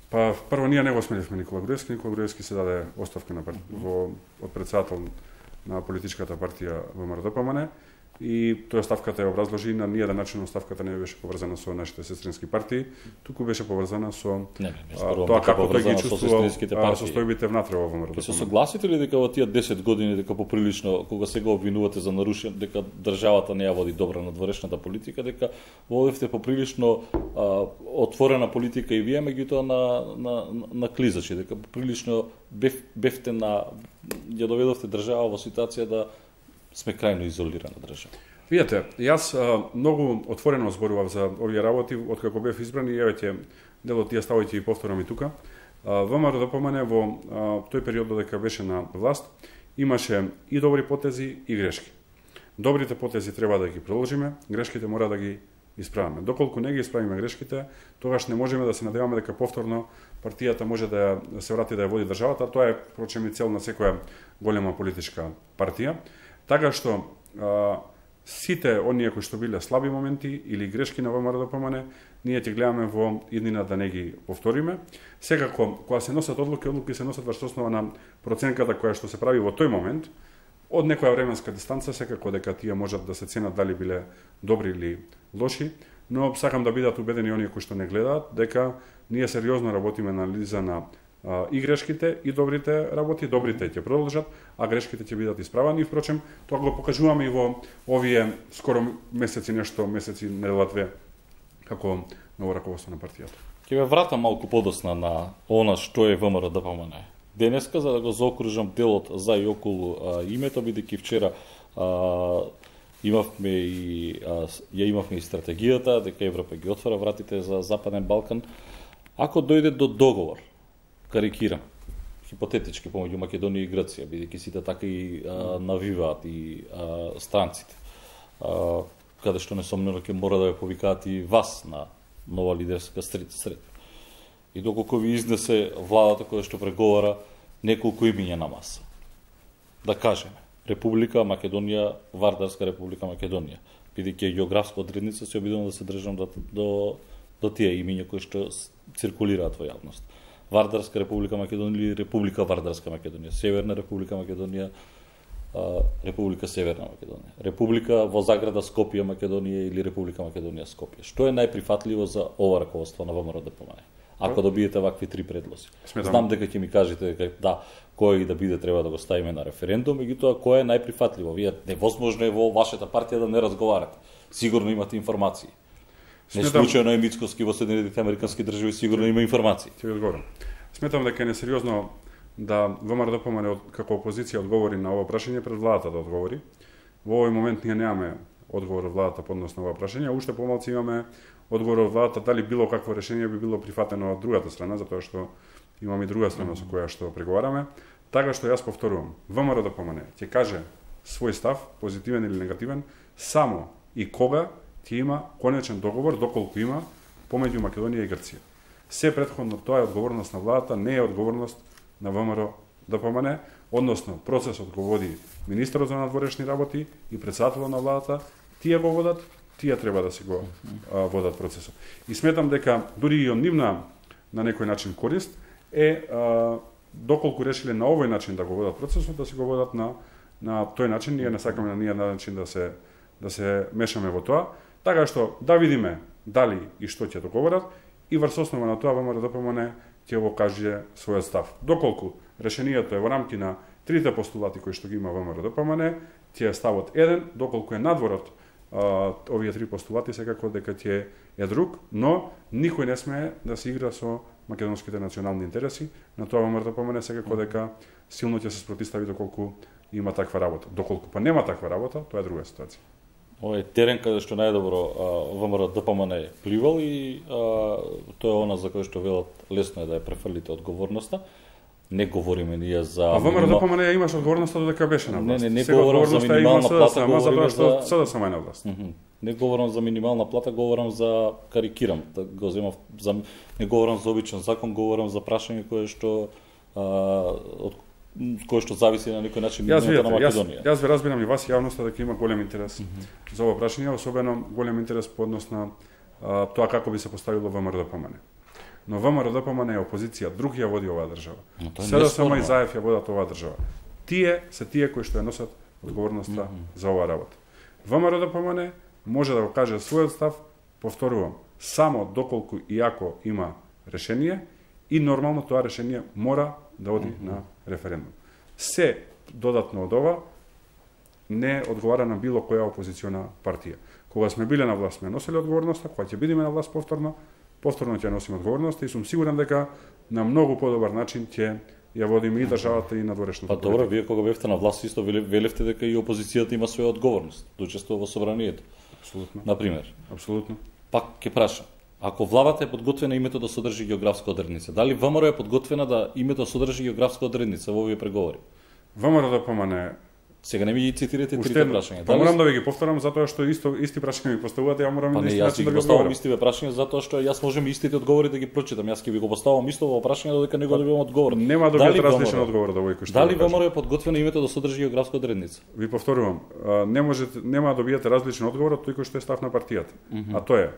Speaker 2: Па прво ние не го сменивме Никола Груевски, Никола Груевски се даде оставка на пар... mm -hmm. во од претседател на политичката партија ВМРО д П М Н и тоа ставката ја образложи на ние да начинно ставката не беше поврзана со нашите сестрински партии, туку беше поврзана со
Speaker 1: не, не,
Speaker 2: а, тоа како тој ги чувствува состојбите внатре во ВМРО.
Speaker 1: Ќе се согласите ли дека во тие десет години дека поприлично кога сега обвинувате за нарушен дека државата не ја води добра надворешната политика, дека водевте поприлично а, отворена политика и вие меѓутоа на на на клизачи, дека поприлично бев, бевте на ја доведовте држава во ситуација да сме крајно изолирана држава.
Speaker 2: Видете, јас а, многу отворено зборував за овие работи откако бев избран и еве дел од тие ставови ќе ги повторам и тука. ВМРО да помане во а, тој период додека беше на власт имаше и добри потези и грешки. Добрите потези треба да ги продолжиме, грешките мора да ги исправиме. Доколку не ги исправиме грешките, тогаш не можеме да се надеваме дека повторно партијата може да ја, се врати да ја води државата, тоа е впрочем и цел на секоја голема политичка партија. Така што а, сите оние кои што биле слаби моменти или грешки на ВМРО да помане, ние ќе гледаме во иднина да не ги повториме. Секако, кога се носат одлуки, одлуки се носат врз основа на проценката која што се прави во тој момент, од некоја временска дистанца, секако дека тие можат да се ценат дали биле добри или лоши, но сакам да бидат убедени оние кои што не гледаат, дека ние сериозно работиме на анализа на а, и грешките, и добрите работи, добрите ќе продолжат, а грешките ќе бидат исправани. И впрочем, тоа го покажуваме и во овие скоро месеци, нешто месеци, недела две, како ново раководство на партијата.
Speaker 1: Ќе ве вратам малку подосна на она што е ВМРО да помане. Денеска, за да го заокружам делот за и околу а, името, бидејќи вчера а, имавме и а, ја имавме и стратегијата дека Европа ги отвора вратите за Западен Балкан. Ако дојде до договор, карикирам, хипотетички помеѓу Македонија и Грција, бидејќи сите така и а, навиваат и а, странците, а, каде што несомнено ќе мора да ја повикаат и вас на нова лидерска сред. сред. И доколку ви изнесе владата која што преговара неколку имиња на маса. Да кажеме, Република Македонија, Вардарска Република Македонија, бидејќи географска одредница се обидувам да се држам до, до, до тие имиња кои што циркулираат во јавност. Вардарска Република Македонија или Република Вардарска Македонија, Северна Република Македонија, Република Северна Македонија, Република во заграда Скопје Македонија или Република Македонија Скопје. Што е најприфатливо за ова раководство на ВМРО да помане? Ако добиете вакви три предлози. Сметам. Знам дека ќе ми кажете дека да, кој да биде треба да го ставиме на референдум, меѓутоа кој е најприфатливо? Вие невозможно е во вашата партија да не разговарате. Сигурно имате информации. Не случајно е Мицкоски во Соединетите Американски држави, сигурно има информации.
Speaker 2: Ќе ви одговорам. Сметам дека е несериозно да ВМРО да помане како опозиција одговори на ова прашање пред владата да одговори. Во овој момент ние немаме одговор од владата по однос на ова прашање, а уште помалку имаме одговор од владата дали било какво решение би било прифатено од другата страна, затоа што имаме и друга страна со која што преговараме. Така што јас повторувам, ВМРО да помане ќе каже свој став, позитивен или негативен, само и кога ќе има конечен договор, доколку има помеѓу Македонија и Грција. Се претходно тоа е одговорност на владата, не е одговорност на ВМРО да помане, односно процесот го води министерот за надворешни работи и председателот на владата, тие го водат, тие треба да се го а, водат процесот. И сметам дека дури и од нивна на некој начин корист е а, доколку решиле на овој начин да го водат процесот, да се го водат на на тој начин. Ние не сакаме на ние начин да се да се мешаме во тоа, така што да видиме дали и што ќе договорат и врз основа на тоа ВМРО да помане ќе го каже својот став. Доколку решението е во рамки на трите постулати кои што ги има ВМРО да помане, ќе е ставот еден, доколку е надворот а, овие три постулати секако дека ќе е друг, но никој не смее да се игра со македонските национални интереси. На тоа ВМРО да помане секако дека силно ќе се спротистави доколку има таква работа. Доколку па нема таква работа, тоа е друга ситуација.
Speaker 1: Ова е терен каде што најдобро ВМРО да помане е пливал и а, тоа е она за кој што велат лесно е да ја префрлите одговорноста. Не говориме ние за...
Speaker 2: А ВМРО да помане ја имаш одговорноста додека беше на власт.
Speaker 1: Не, не, не говорам за минимална плата,
Speaker 2: говориме
Speaker 1: за...
Speaker 2: Sada сама на власт.
Speaker 1: Mm -hmm. Не говорам за минимална плата, говорам за карикирам. Да го земав за не говорам за обичен закон, говорам за прашање кое што а, од кое што зависи на некој начин мината на Македонија.
Speaker 2: Јас, јас ве разбирам и вас јавноста дека има голем интерес mm -hmm. за ова прашање, особено голем интерес по однос на а, тоа како би се поставило ВМРО да помане. Но ВМРО да помане е опозиција, друг ја води оваа држава. СДСМ и Заев ја водат оваа држава. Тие се тие кои што ја носат одговорноста mm -hmm. за оваа работа. ВМРО-ДПМН може да го каже својот став, повторувам, само доколку и ако има решение и нормално тоа решение мора да оди mm -hmm. на референдум. Се додатно од ова не одговара на било која опозициона партија. Кога сме биле на власт, сме носели одговорноста, кога ќе бидеме на власт повторно, повторно ќе носиме одговорноста и сум сигурен дека на многу подобар начин ќе ја водиме и државата и надворешната.
Speaker 1: Па добро, вие кога бевте на власт исто велевте дека и опозицијата има своја одговорност да учествува во собранието.
Speaker 2: Апсолутно.
Speaker 1: На пример.
Speaker 2: Апсолутно.
Speaker 1: Пак ќе прашам, ако владата е подготвена името да содржи географска одредница, дали ВМРО е подготвена да името содржи географска одредница во овие преговори?
Speaker 2: ВМРО-ДПМН
Speaker 1: Сега не ми ги цитирате трите прашања.
Speaker 2: Па морам да ви ги повторам затоа што исто исти прашања ми поставувате, ја морам
Speaker 1: па
Speaker 2: да
Speaker 1: исти начин да ги поставам истиве прашања затоа што јас можам истите одговори да ги прочитам. Јас ќе ви го поставам исто во прашање додека не го добивам одговор.
Speaker 2: Нема да добиете различен одговор од овој кој што.
Speaker 1: Дали ВМРО е подготвено името да содржи географска одредница?
Speaker 2: Ви повторувам, не можете нема да добиете различен одговор од тој кој што е став на партијата. Mm -hmm. А тоа е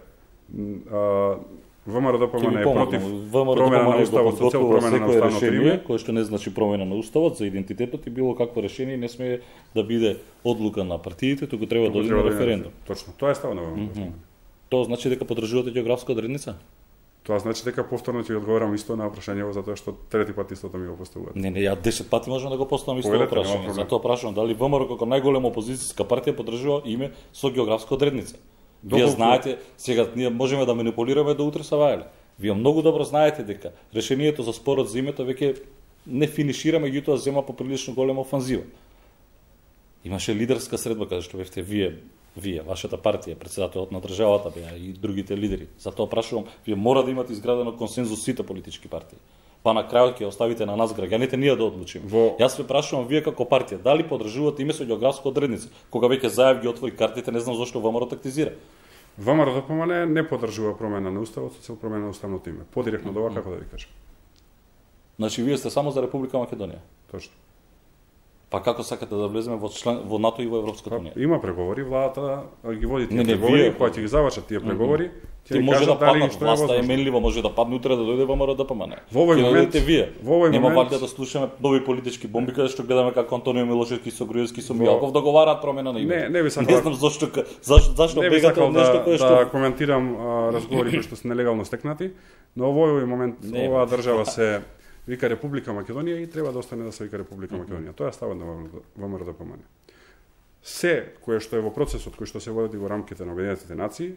Speaker 2: ВМРО-ДПМН е против промена на уставот со цел промена на уставното име,
Speaker 1: кој што не значи промена на уставот за идентитетот и било какво решение не сме да биде одлука на партиите, туку треба да оди на референдум.
Speaker 2: Точно, тоа е став на ВМРО-ДПМН.
Speaker 1: Тоа значи дека поддржувате географска одредница?
Speaker 2: Тоа значи дека повторно ќе одговорам исто на прашањето затоа што трети пат истото ми го поставуваат.
Speaker 1: Не, не, ја десет пати можам да го поставам исто прашање. Затоа прашувам дали ВМРО како најголема опозицијска партија поддржува име со географска одредница. Вие знаете, сега ние можеме да манипулираме до утре савајле. Вие многу добро знаете дека решението за спорот за името веќе не финишира, меѓутоа зема поприлично голема офанзива. Имаше лидерска средба каде што бевте вие, вие, вашата партија, претседателот на државата беа и другите лидери. Затоа прашувам, вие мора да имате изградено консензус сите политички партии. Па на крајот ќе оставите на нас граѓаните ние да одлучиме. Во... Јас ве прашувам вие како партија, дали поддржувате име со географска одредница? Кога веќе Заев ги отвори картите, не знам зошто ВМРО тактизира.
Speaker 2: ВМРО-ДПМН не поддржува промена на уставот со цел промена на уставното име. Подиректно од ова како да ви кажам.
Speaker 1: Значи вие сте само за Република Македонија.
Speaker 2: Точно.
Speaker 1: Па како сакате да влеземе во член во НАТО и во Европската унија?
Speaker 2: Има преговори, владата ги води тие преговори, кога ќе ги завршат тие преговори,
Speaker 1: ќе може да падне власта е менливо, може да падне утре да дојде ВМРО-ДПМН.
Speaker 2: Во овој момент
Speaker 1: вие.
Speaker 2: Во овој
Speaker 1: нема
Speaker 2: момент
Speaker 1: валјда да слушаме нови политички бомби каде што гледаме како Антонио Милошевски со Груевски со Мијаков договараат промена на име.
Speaker 2: Не, не ви сакам.
Speaker 1: Не знам зошто зашто зашто бегате од нешто кое што
Speaker 2: да коментирам разговори кои што се нелегално стекнати, но во овој момент оваа држава се вика Република Македонија и треба да остане да се вика Република Македонија. Тоа е ставот на ВМРО-ДПМН. Се кое што е во процесот кој што се води во рамките на Обединетите нации,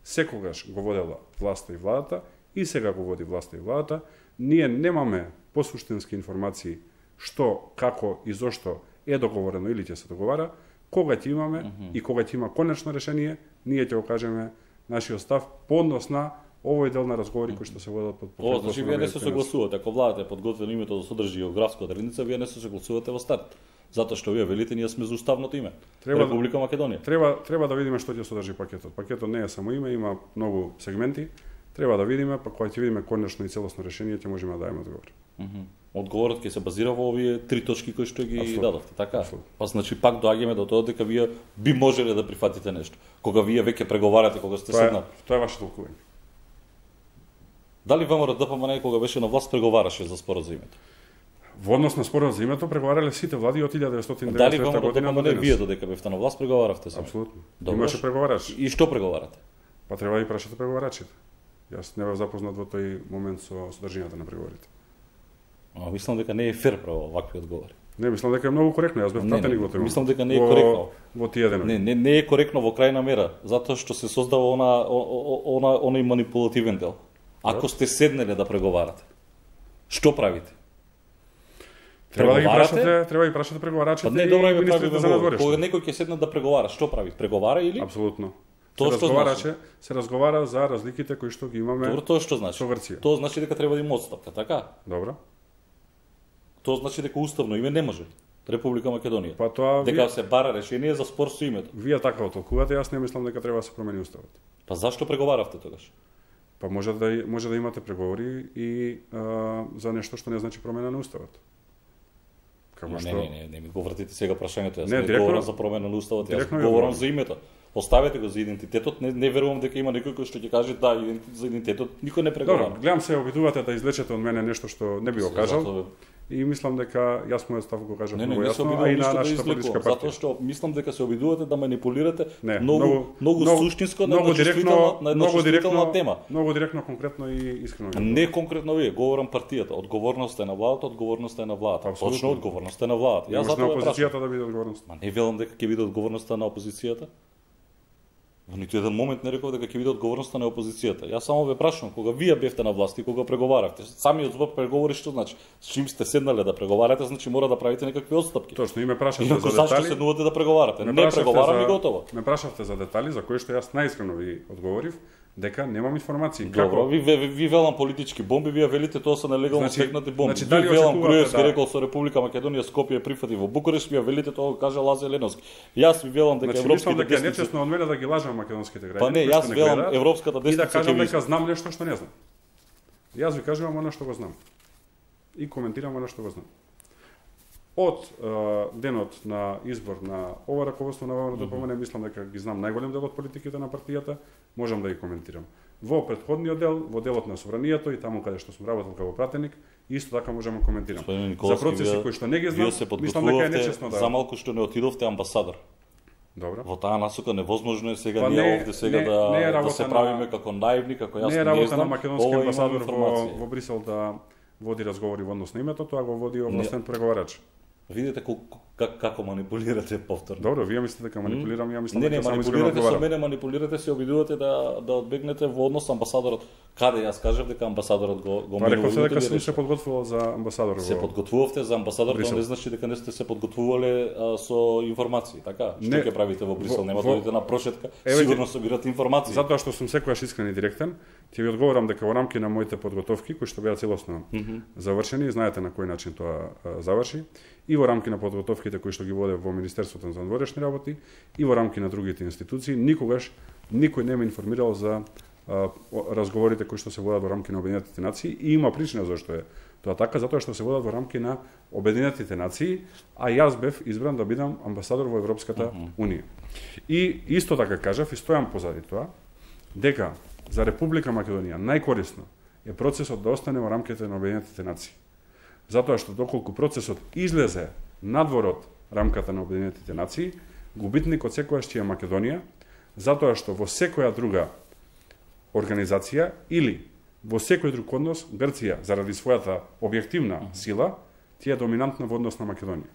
Speaker 2: секогаш го водела власта и владата и сега го води власта и владата. Ние немаме посуштински информации што, како и зошто е договорено или ќе се договара. Кога ќе имаме uh -huh. и кога ќе има конечно решение, ние ќе го кажеме нашиот став по однос на овој дел на разговори кои што се водат под
Speaker 1: О, значи вие не се согласувате, ако владата е подготвено името да содржи географска одредница, вие не се согласувате во старт. Затоа што вие велите ние сме за уставното име. Треба Република Македонија.
Speaker 2: Треба треба да видиме што ќе содржи пакетот. Пакетот не е само име, има многу сегменти. Треба да видиме, па кога ќе видиме конечно и целосно решение, ќе можеме да дадеме одговор.
Speaker 1: Mm -hmm. Одговорот ќе се базира во овие три точки кои што ги Absolut. дадовте, така? Absolut. Па значи пак доаѓаме до тоа дека вие би можеле да прифатите нешто. Кога вие веќе преговарате, кога сте седнали.
Speaker 2: Тоа е ваше толкување.
Speaker 1: Дали ВМРО-ДПМН кога беше на власт преговараше за спорот за името?
Speaker 2: Во однос на спорот за името преговарале сите влади од илјада деветстотини и деветдесета година.
Speaker 1: Дали ВМРО-ДПМН вие додека бевте на власт преговаравте за?
Speaker 2: Апсолутно. Имаше преговарач.
Speaker 1: И што преговарате?
Speaker 2: Па треба да прашате преговарачите. Јас не бев запознат во тој момент со содржината на преговорите.
Speaker 1: А мислам дека не е фер право вакви одговори.
Speaker 2: Не, мислам дека е многу коректно, јас бев пратеник во тој.
Speaker 1: Мислам дека не е коректно.
Speaker 2: Во тие денови.
Speaker 1: Не, не, не е коректно во крајна мера, затоа што се создава она она оној манипулативен дел. Ако сте седнеле да преговарате, што правите?
Speaker 2: Треба да ги прашате, треба да ги прашате преговарачите
Speaker 1: па не, добро, и министрите за надворешно. Кога некој ќе седне да преговара, што прави? Преговара или?
Speaker 2: Апсолутно.
Speaker 1: Тоа што значи?
Speaker 2: Се разговара за разликите кои што ги имаме.
Speaker 1: Добро, тоа што значи?
Speaker 2: Со Грција.
Speaker 1: Тоа значи дека треба да има отстапка, така?
Speaker 2: Добро.
Speaker 1: Тоа значи дека уставно име не може. Република Македонија.
Speaker 2: Па тоа
Speaker 1: дека се бара решение за спор со името.
Speaker 2: Вие така го толкувате, јас не мислам дека треба да се промени уставот.
Speaker 1: Па зашто преговаравте тогаш?
Speaker 2: Па може да може да имате преговори и а, за нешто што не значи промена на уставот.
Speaker 1: Како што... Не, не, не, не ми го вратите сега прашањето. Јас не, не говорам за промена на уставот, јас говорам за името. Оставете го за идентитетот, не, не верувам дека има некој кој што ќе каже да, идентитет, за идентитетот никој не преговара.
Speaker 2: Добро, гледам се обидувате да извлечете од мене нешто што не би го кажал. и мислам дека јас мојот став го кажав
Speaker 1: не, не,
Speaker 2: многу
Speaker 1: не се
Speaker 2: јасно, а
Speaker 1: обидувам
Speaker 2: и на
Speaker 1: ништо да
Speaker 2: нашата
Speaker 1: излекувам,
Speaker 2: политичка партија.
Speaker 1: затоа што мислам дека се обидувате да манипулирате
Speaker 2: Не,
Speaker 1: многу
Speaker 2: многу-
Speaker 1: многу
Speaker 2: многу-
Speaker 1: суштинско на
Speaker 2: многу
Speaker 1: една
Speaker 2: директно,
Speaker 1: чувствителна- на една
Speaker 2: многу
Speaker 1: чувствителна
Speaker 2: директно,
Speaker 1: тема.
Speaker 2: многу директно, конкретно и искрено.
Speaker 1: Не конкретно вие, говорам партијата. Одговорноста е на владата, одговорноста е на владата.
Speaker 2: Апсолутно.
Speaker 1: Точно одговорноста е на владата.
Speaker 2: Јас
Speaker 1: Јас
Speaker 2: на
Speaker 1: затоа ве прашам.
Speaker 2: опозицијата да биде одговорност.
Speaker 1: Ма не велам дека ќе биде одговорноста на опозицијата. Во ниту еден момент не реков дека ќе биде одговорноста на опозицијата. Јас само ве прашувам, кога вие бевте на власт и кога преговаравте, самиот збор преговори што значи? С чим сте седнале да преговарате, значи мора да правите некакви отстапки.
Speaker 2: Точно, и ме прашавте
Speaker 1: Инаку
Speaker 2: за
Speaker 1: зашто
Speaker 2: детали.
Speaker 1: седнувате да преговарате?
Speaker 2: Ме
Speaker 1: Не
Speaker 2: прашавте
Speaker 1: преговарам
Speaker 2: за-
Speaker 1: и готово.
Speaker 2: Ме прашавте за детали за кои што јас најискрено ви одговорив дека немам информации.
Speaker 1: Добро, ви, ви, ви велам политички бомби, вие велите тоа се нелегално
Speaker 2: Значи-
Speaker 1: стекнати бомби.
Speaker 2: значи,
Speaker 1: Ви
Speaker 2: дали
Speaker 1: велам
Speaker 2: очекувате
Speaker 1: Груевски
Speaker 2: да-
Speaker 1: рекол со Република Македонија Скопје прифати во Букурешт, вие велите тоа го кажа Лазе Леновски. Јас ви велам дека
Speaker 2: Значи, мислам
Speaker 1: европските
Speaker 2: дека е
Speaker 1: десници.
Speaker 2: нечесно од мене да ги лажам македонските граѓани.
Speaker 1: Па не,
Speaker 2: кои
Speaker 1: јас
Speaker 2: што
Speaker 1: велам
Speaker 2: гледаат,
Speaker 1: европската
Speaker 2: и да
Speaker 1: десница
Speaker 2: кажам
Speaker 1: ќе ви
Speaker 2: дека знам нешто што не знам. Јас ви кажувам она што го знам. И коментирам она што го знам. Од е, денот на избор на ова раководство на ВМ ДПМН, мислам дека ги знам најголем дел од политиките на партијата, можам да ги коментирам. Во претходниот дел, во делот на собранието и таму каде што сум работел како пратеник, исто така можам да коментирам.
Speaker 1: Господин
Speaker 2: За
Speaker 1: Николовски,
Speaker 2: процеси
Speaker 1: вие-
Speaker 2: кои што не ги знам,
Speaker 1: Вие се
Speaker 2: мислам дека е
Speaker 1: подготвувавте
Speaker 2: нечесно да.
Speaker 1: за малку што не отидовте амбасадор.
Speaker 2: Добро.
Speaker 1: Во таа насока невозможно е сега
Speaker 2: Па
Speaker 1: ние
Speaker 2: не-
Speaker 1: овде сега
Speaker 2: не-
Speaker 1: да,
Speaker 2: не е
Speaker 1: да
Speaker 2: работа
Speaker 1: се
Speaker 2: на-
Speaker 1: правиме како наивни, како јас
Speaker 2: Не е
Speaker 1: не
Speaker 2: работа
Speaker 1: знам.
Speaker 2: на македонски
Speaker 1: Ова имам
Speaker 2: амбасадор во,
Speaker 1: информација.
Speaker 2: во Брисел да води разговори во однос на името, тоа го води овластен преговарач.
Speaker 1: Видите колку как, како манипулирате повторно.
Speaker 2: Добро, вие мислите дека манипулирам, ја мислам
Speaker 1: Не, не,
Speaker 2: дека само искрено
Speaker 1: манипулирате со
Speaker 2: одговарам.
Speaker 1: мене, манипулирате се, обидувате да да одбегнете во однос со амбасадорот. Каде јас кажав дека амбасадорот го го
Speaker 2: Па реков се
Speaker 1: менува,
Speaker 2: дека
Speaker 1: вие
Speaker 2: сум се
Speaker 1: решите.
Speaker 2: подготвувал за амбасадор
Speaker 1: Се
Speaker 2: во.
Speaker 1: подготвувавте за амбасадор, тоа
Speaker 2: Брисел.
Speaker 1: не значи дека не сте се подготвувале а, со информации, така? Што
Speaker 2: Не.
Speaker 1: ќе правите во Брисел?
Speaker 2: Во-
Speaker 1: Нема
Speaker 2: во-
Speaker 1: да одите на прошетка,
Speaker 2: Еве
Speaker 1: сигурно
Speaker 2: ќе-
Speaker 1: собирате информации.
Speaker 2: Затоа што сум секогаш искрен и директен, ќе ви одговорам дека во рамки на моите подготовки, кои што беа целосно mm -hmm. завршени, знаете на кој начин тоа а, заврши, и во рамки на подготовките кои што ги воде во Министерството за надворешни работи, и во рамки на другите институции, никогаш никој не ме информирал за а, о- разговорите кои што се водат во рамки на Обединетите нации, и има причина зашто е тоа така, затоа што се водат во рамки на Обединетите нации, а јас бев избран да бидам амбасадор во Европската mm -hmm. унија. И исто така кажав и стојам позади тоа, дека за Република Македонија најкорисно е процесот да остане во рамките на Обединетите нации. Затоа што доколку процесот излезе надвор од рамката на Обединетите нации, губитникот секогаш ќе е Македонија, затоа што во секоја друга организација или во секој друг однос Грција заради својата објективна сила тие е доминантна во однос на Македонија.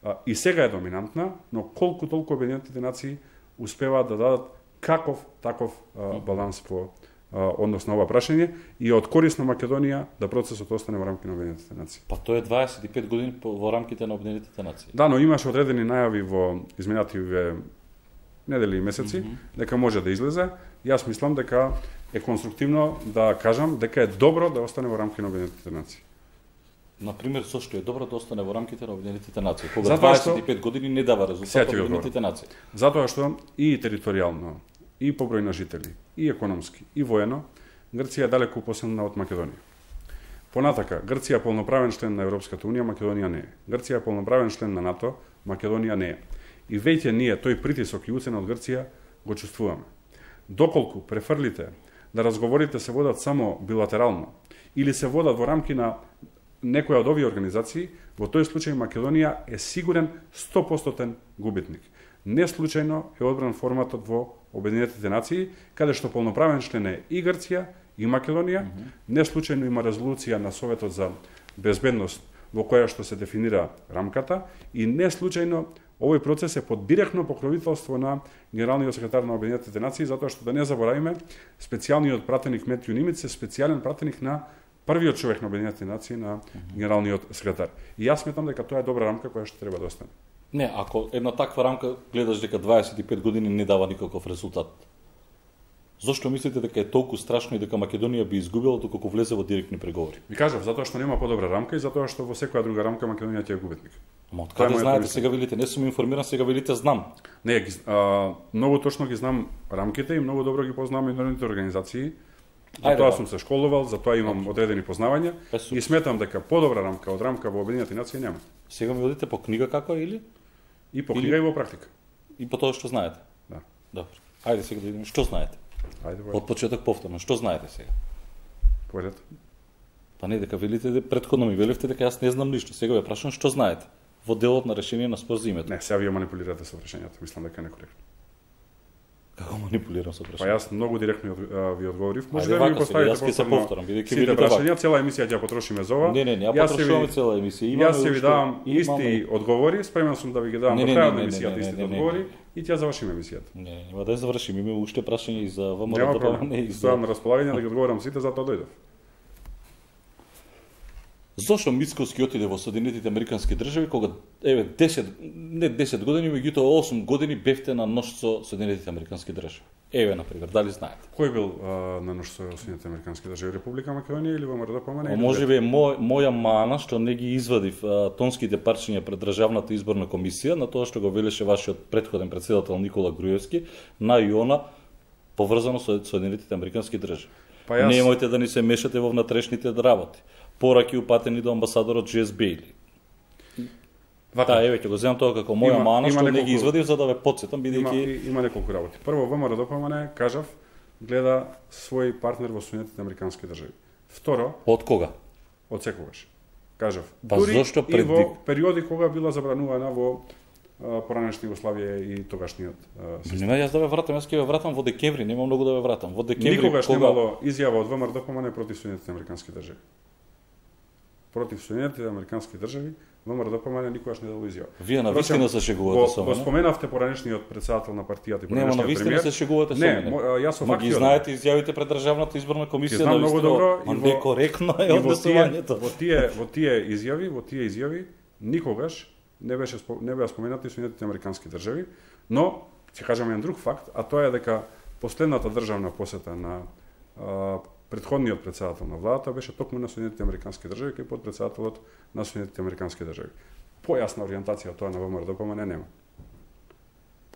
Speaker 2: А, и сега е доминантна, но колку толку Обединетите нации успеваат да дадат каков таков а, баланс по а, однос на ова прашање и од корис на Македонија да процесот остане во рамки на Обединетите нации.
Speaker 1: Па тоа е дваесет и пет години по- во рамките на Обединетите нации.
Speaker 2: Да, но имаше одредени најави во изминативе недели и месеци, mm -hmm. дека може да излезе. Јас мислам дека е конструктивно да кажам дека е добро да остане во рамки на Обединетите нации.
Speaker 1: Например, со што е добро да остане во рамките на Обединетите нации, кога
Speaker 2: Затоа
Speaker 1: дваесет и пет години не дава
Speaker 2: Сега
Speaker 1: резултат
Speaker 2: ќе ви
Speaker 1: Обединетите нации.
Speaker 2: Затоа што и територијално, и по број на жители, и економски, и воено, Грција е далеку посилна од Македонија. Понатака, Грција е полноправен член на Европската унија, Македонија не е. Грција е полноправен член на НАТО, Македонија не е. И веќе ние тој притисок и уцена од Грција го чувствуваме. Доколку префрлите да разговорите се водат само билатерално или се водат во рамки на некоја од овие организации, во тој случај Македонија е сигурен сто проценти губитник. Не случајно е одбран форматот во Обединетите нации, каде што полноправен член е и Грција и Македонија. Mm -hmm. Не случајно има резолуција на Советот за безбедност во која што се дефинира рамката и не случајно овој процес е под директно покровителство на генералниот секретар на Обединетите нации, затоа што да не заборавиме, специјалниот пратеник Метју Нимиц е специјален пратеник на првиот човек на Обединетите нации, на генералниот секретар. И јас сметам дека тоа е добра рамка која што треба да остане.
Speaker 1: Не, ако една таква рамка гледаш дека дваесет и пет години не дава никаков резултат, зошто мислите дека е толку страшно и дека Македонија би изгубила доколку влезе во директни преговори?
Speaker 2: Ви кажав, затоа што нема подобра рамка и затоа што во секоја друга рамка Македонија ќе е губитник.
Speaker 1: Ама од
Speaker 2: Тоа е
Speaker 1: каде
Speaker 2: мојата
Speaker 1: знаете,
Speaker 2: мисла.
Speaker 1: сега велите, не сум информиран, сега велите знам.
Speaker 2: Не, ги, а, многу точно ги знам рамките и многу добро ги познавам меѓународните организации. За
Speaker 1: Ајде,
Speaker 2: тоа
Speaker 1: да.
Speaker 2: сум се школувал, за тоа имам одредени познавања
Speaker 1: Е, супер.
Speaker 2: и сметам дека подобра рамка од рамка во Обединетите нации нема.
Speaker 1: Сега ми одите по книга како е или
Speaker 2: И по
Speaker 1: Или-
Speaker 2: книга и во практика.
Speaker 1: и по тоа што знаете?
Speaker 2: Да.
Speaker 1: Добро. Ајде сега да видиме што знаете.
Speaker 2: Ајде,
Speaker 1: Од почеток повторно, што знаете сега?
Speaker 2: појдете.
Speaker 1: Па не, дека велите, претходно ми велевте дека јас не знам ништо. Сега ве прашам што знаете во делот на решение на спор за името.
Speaker 2: Не, сега вие манипулирате со решението. Мислам дека е некоректно.
Speaker 1: Како манипулирам со
Speaker 2: прашањето?
Speaker 1: прашање?
Speaker 2: Па јас многу директно ви одговорив.
Speaker 1: Може да ми поставите јас ќе се повторам, бидејќи ви
Speaker 2: прашања, цела емисија ќе потрошиме за ова.
Speaker 1: Не, не, не, ја потрошуваме цела емисија.
Speaker 2: Јас ќе ви давам исти одговори, спремен сум да ви ги давам до крајот на емисијата истите одговори и ќе завршиме емисијата.
Speaker 1: Не, нема да ја завршиме, има уште прашања и за ВМРО.
Speaker 2: Нема проблем. Стојам на располагање да ги одговорам сите, затоа дојдов.
Speaker 1: Зошто Мицковски отиде во Соединетите Американски држави кога еве десет не десет години, меѓутоа осум години бевте на нож со Соединетите Американски држави? Еве на пример, дали знаете?
Speaker 2: Кој бил а, на нож со Соединетите Американски држави? Република Македонија или ВМРО ДПМН?
Speaker 1: Можеби мој моја мана што не ги извадив а, тонските парчиња пред Државната изборна комисија на тоа што го велеше вашиот претходен претседател Никола Груевски на ИОНа поврзано со Соединетите Американски држави. Па јас... Немојте да ни се мешате во внатрешните работи. Пораки упатени до амбасадорот Джес Бейли. Да, еве ќе го земам тоа како моја има, мана што неколку... не ги извадив за да ве потсетам бидејќи
Speaker 2: има, има неколку работи. Прво ВМРО ДПМН, кажав, гледа свој партнер во Соединетите Американски држави. Второ,
Speaker 1: од кога?
Speaker 2: Од секогаш. Кажав.
Speaker 1: Па зошто пред...
Speaker 2: и во периоди кога била забранувана во поранешна Југославија и тогашниот
Speaker 1: систем. Нема јас да ве вратам, јас ќе ве вратам во декември, нема многу да ве вратам. Во декември
Speaker 2: никогаш
Speaker 1: кога...
Speaker 2: немало изјава од ВМРО ДПМН против Соединетите Американски држави. Против Соединетите Американски држави, ВМРО ДПМН никогаш не дало изјава.
Speaker 1: Вие на вистина се шегувате со мене.
Speaker 2: Го споменавте поранешниот претседател на партијата и
Speaker 1: поранешниот премиер. Нема, на вистина се шегувате со мене.
Speaker 2: Не, јас со
Speaker 1: факти. Ги знаете изјавите пред Државната изборна комисија
Speaker 2: на
Speaker 1: много
Speaker 2: добро
Speaker 1: и некоректно е однесувањето.
Speaker 2: Во тие во тие изјави, во тие изјави никогаш не беше не беа споменати Соединетите Американски држави, но ќе кажам еден друг факт, а тоа е дека последната државна посета на а, претходниот претседател на владата беше токму на Соединетите Американски држави кај подпредседателот на Соединетите Американски држави. Појасна ориентација тоа на ВМРО ДПМН нема.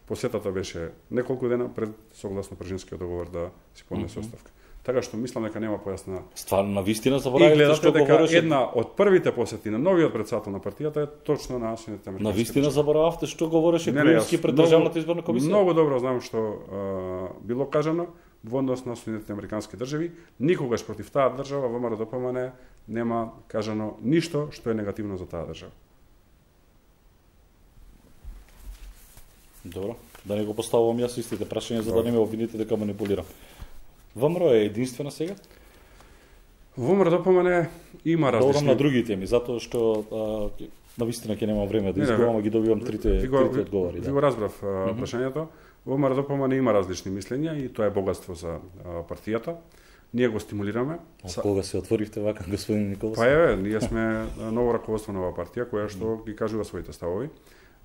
Speaker 2: Посетата беше неколку дена пред согласно Пржинскиот договор да си поднесе оставка. Така што мислам дека нема појасна.
Speaker 1: Стварно на вистина заборавивте што
Speaker 2: дека
Speaker 1: говореше.
Speaker 2: Една од првите посети на новиот претседател на партијата е точно на Соединетите Американски.
Speaker 1: На вистина заборававте што говореше Груевски пред
Speaker 2: много,
Speaker 1: Државната изборна комисија.
Speaker 2: Многу добро знам што а, било кажано во однос на Соединетите Американски држави. Никогаш против таа држава ВМРО ДПМН нема кажано ништо што е негативно за таа држава.
Speaker 1: Добро, да не го поставувам јас истите прашања за да не ме обвините дека манипулирам. ВМРО е единствена сега?
Speaker 2: ВМРО ДПМН има различни.
Speaker 1: Добрам на други теми, затоа што а, на вистина ќе немам време да изборувам, ги добивам трите, трите одговори.
Speaker 2: Ви го разбрав а, прашањето. ВМРО ДПМН има различни мислења и тоа е богатство за а, партијата. Ние го стимулираме.
Speaker 1: Од кога се отворивте вака, господин Николов?
Speaker 2: Па еве, ние сме ново раководство на оваа партија која што ги кажува своите ставови.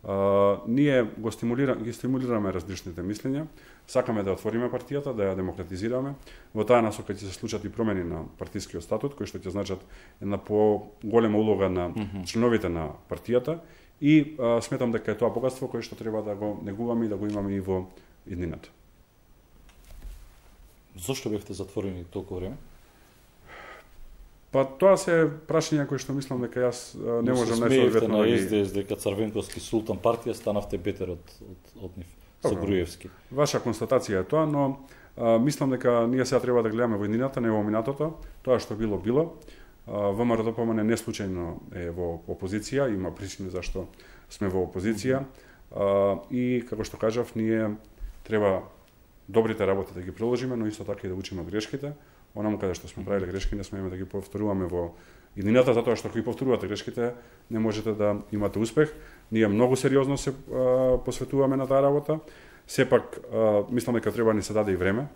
Speaker 2: Uh, ние го стимулираме, ги стимулираме различните мислења, сакаме да отвориме партијата, да ја демократизираме. Во таа насока ќе се случат и промени на партискиот статут, кои што ќе значат една поголема улога на mm -hmm. членовите на партијата и uh, сметам дека е тоа богатство кое што треба да го негуваме и да го имаме и во иднината.
Speaker 1: Зошто бевте затворени толку време?
Speaker 2: Па тоа се прашања кои што мислам дека јас не можам
Speaker 1: нешто
Speaker 2: одветно
Speaker 1: на Ес Де Ес дека Црвенковски султан партија станавте бетер од од, од нив со Груевски.
Speaker 2: Ваша констатација е тоа, но а, мислам дека ние сега треба да гледаме во иднината, не во минатото. Тоа што било било. ВМРО ДПМН не случајно е во опозиција, има причини зашто сме во опозиција. А, и како што кажав, ние треба добрите работи да ги приложиме, но исто така и да учиме од грешките. Онаму каде што сме правиле грешки, не смееме да ги повторуваме во иднината, затоа што ако ги повторувате грешките, не можете да имате успех. Ние многу сериозно се а, посветуваме на таа работа. Сепак, а, мислам дека треба ни се даде и време.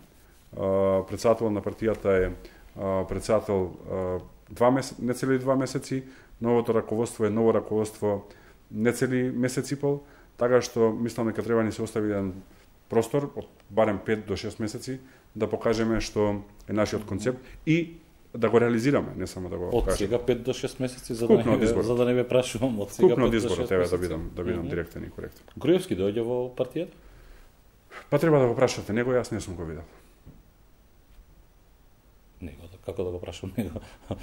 Speaker 2: А, председател на партијата е а, председател а, два месеци, не цели два месеци, новото раководство е ново раководство не цели месец и пол, така што мислам дека треба ни се остави еден простор од барем пет до шест месеци да покажеме што е нашиот концепт и да го реализираме, не само да го
Speaker 1: од
Speaker 2: кажеме.
Speaker 1: сега пет до шест месеци за да не ве, за да не ве прашувам од сега
Speaker 2: Купно од
Speaker 1: пет до
Speaker 2: изборот,
Speaker 1: шест
Speaker 2: еве
Speaker 1: месеци.
Speaker 2: да бидам да бидам mm -hmm. директен и коректен.
Speaker 1: Груевски доаѓа во партијата?
Speaker 2: Па треба да го прашате него, јас не сум го видел.
Speaker 1: Него, како да го прашам него?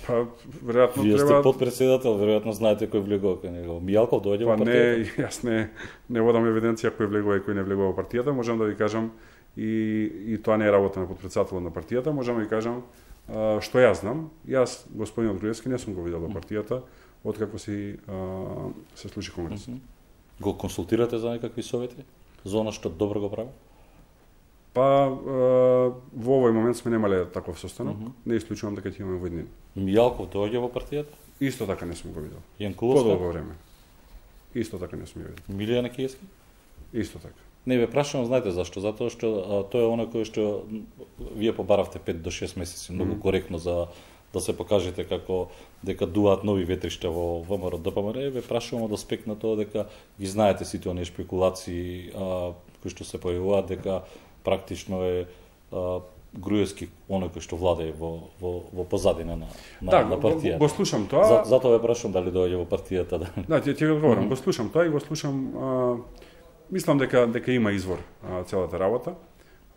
Speaker 2: Па веројатно
Speaker 1: Вие
Speaker 2: треба.
Speaker 1: сте подпредседател, веројатно знаете кој влегува кај него. Мијалков доаѓа
Speaker 2: Па
Speaker 1: во
Speaker 2: не,
Speaker 1: партијата?
Speaker 2: јас не не водам евиденција кој влегува и кој не влегува во партијата, можам да ви кажам и и тоа не е работа на подпредседателот на партијата, можам да ви кажам што јас знам, јас господинот Груевски не сум го видел во партијата откако си а, се случи конгрес.
Speaker 1: Mm-hmm. Го консултирате за некакви совети за она што добро го прави?
Speaker 2: Па а, во овој момент сме немале таков состанок, mm-hmm. не исклучувам дека ќе имаме во иднина.
Speaker 1: Мијалков доаѓа во партијата?
Speaker 2: Исто така не сум го видел.
Speaker 1: Јанкуловска?
Speaker 2: Подолго време. Исто така не сум ја видел.
Speaker 1: Милијана Киевски?
Speaker 2: Исто така.
Speaker 1: Не ве прашувам, знаете зашто? Затоа што а, тоа е оно кој што вие побаравте пет до шест месеци, многу mm-hmm. коректно за да се покажете како дека дуаат нови ветришта во ВМРО ДПМН. Ве прашувам од аспект на тоа дека ги знаете сите оние шпекулации а, кои што се појавуваат дека практично е а, Груевски оној кој што владее во во во позадина на на,
Speaker 2: да,
Speaker 1: на партијата.
Speaker 2: Го, го слушам тоа.
Speaker 1: За, затоа ве прашувам дали доаѓа во партијата. Да,
Speaker 2: да ќе ќе ви одговорам.
Speaker 1: Mm-hmm.
Speaker 2: Го слушам тоа и го слушам. А, мислам дека дека има извор а, целата работа.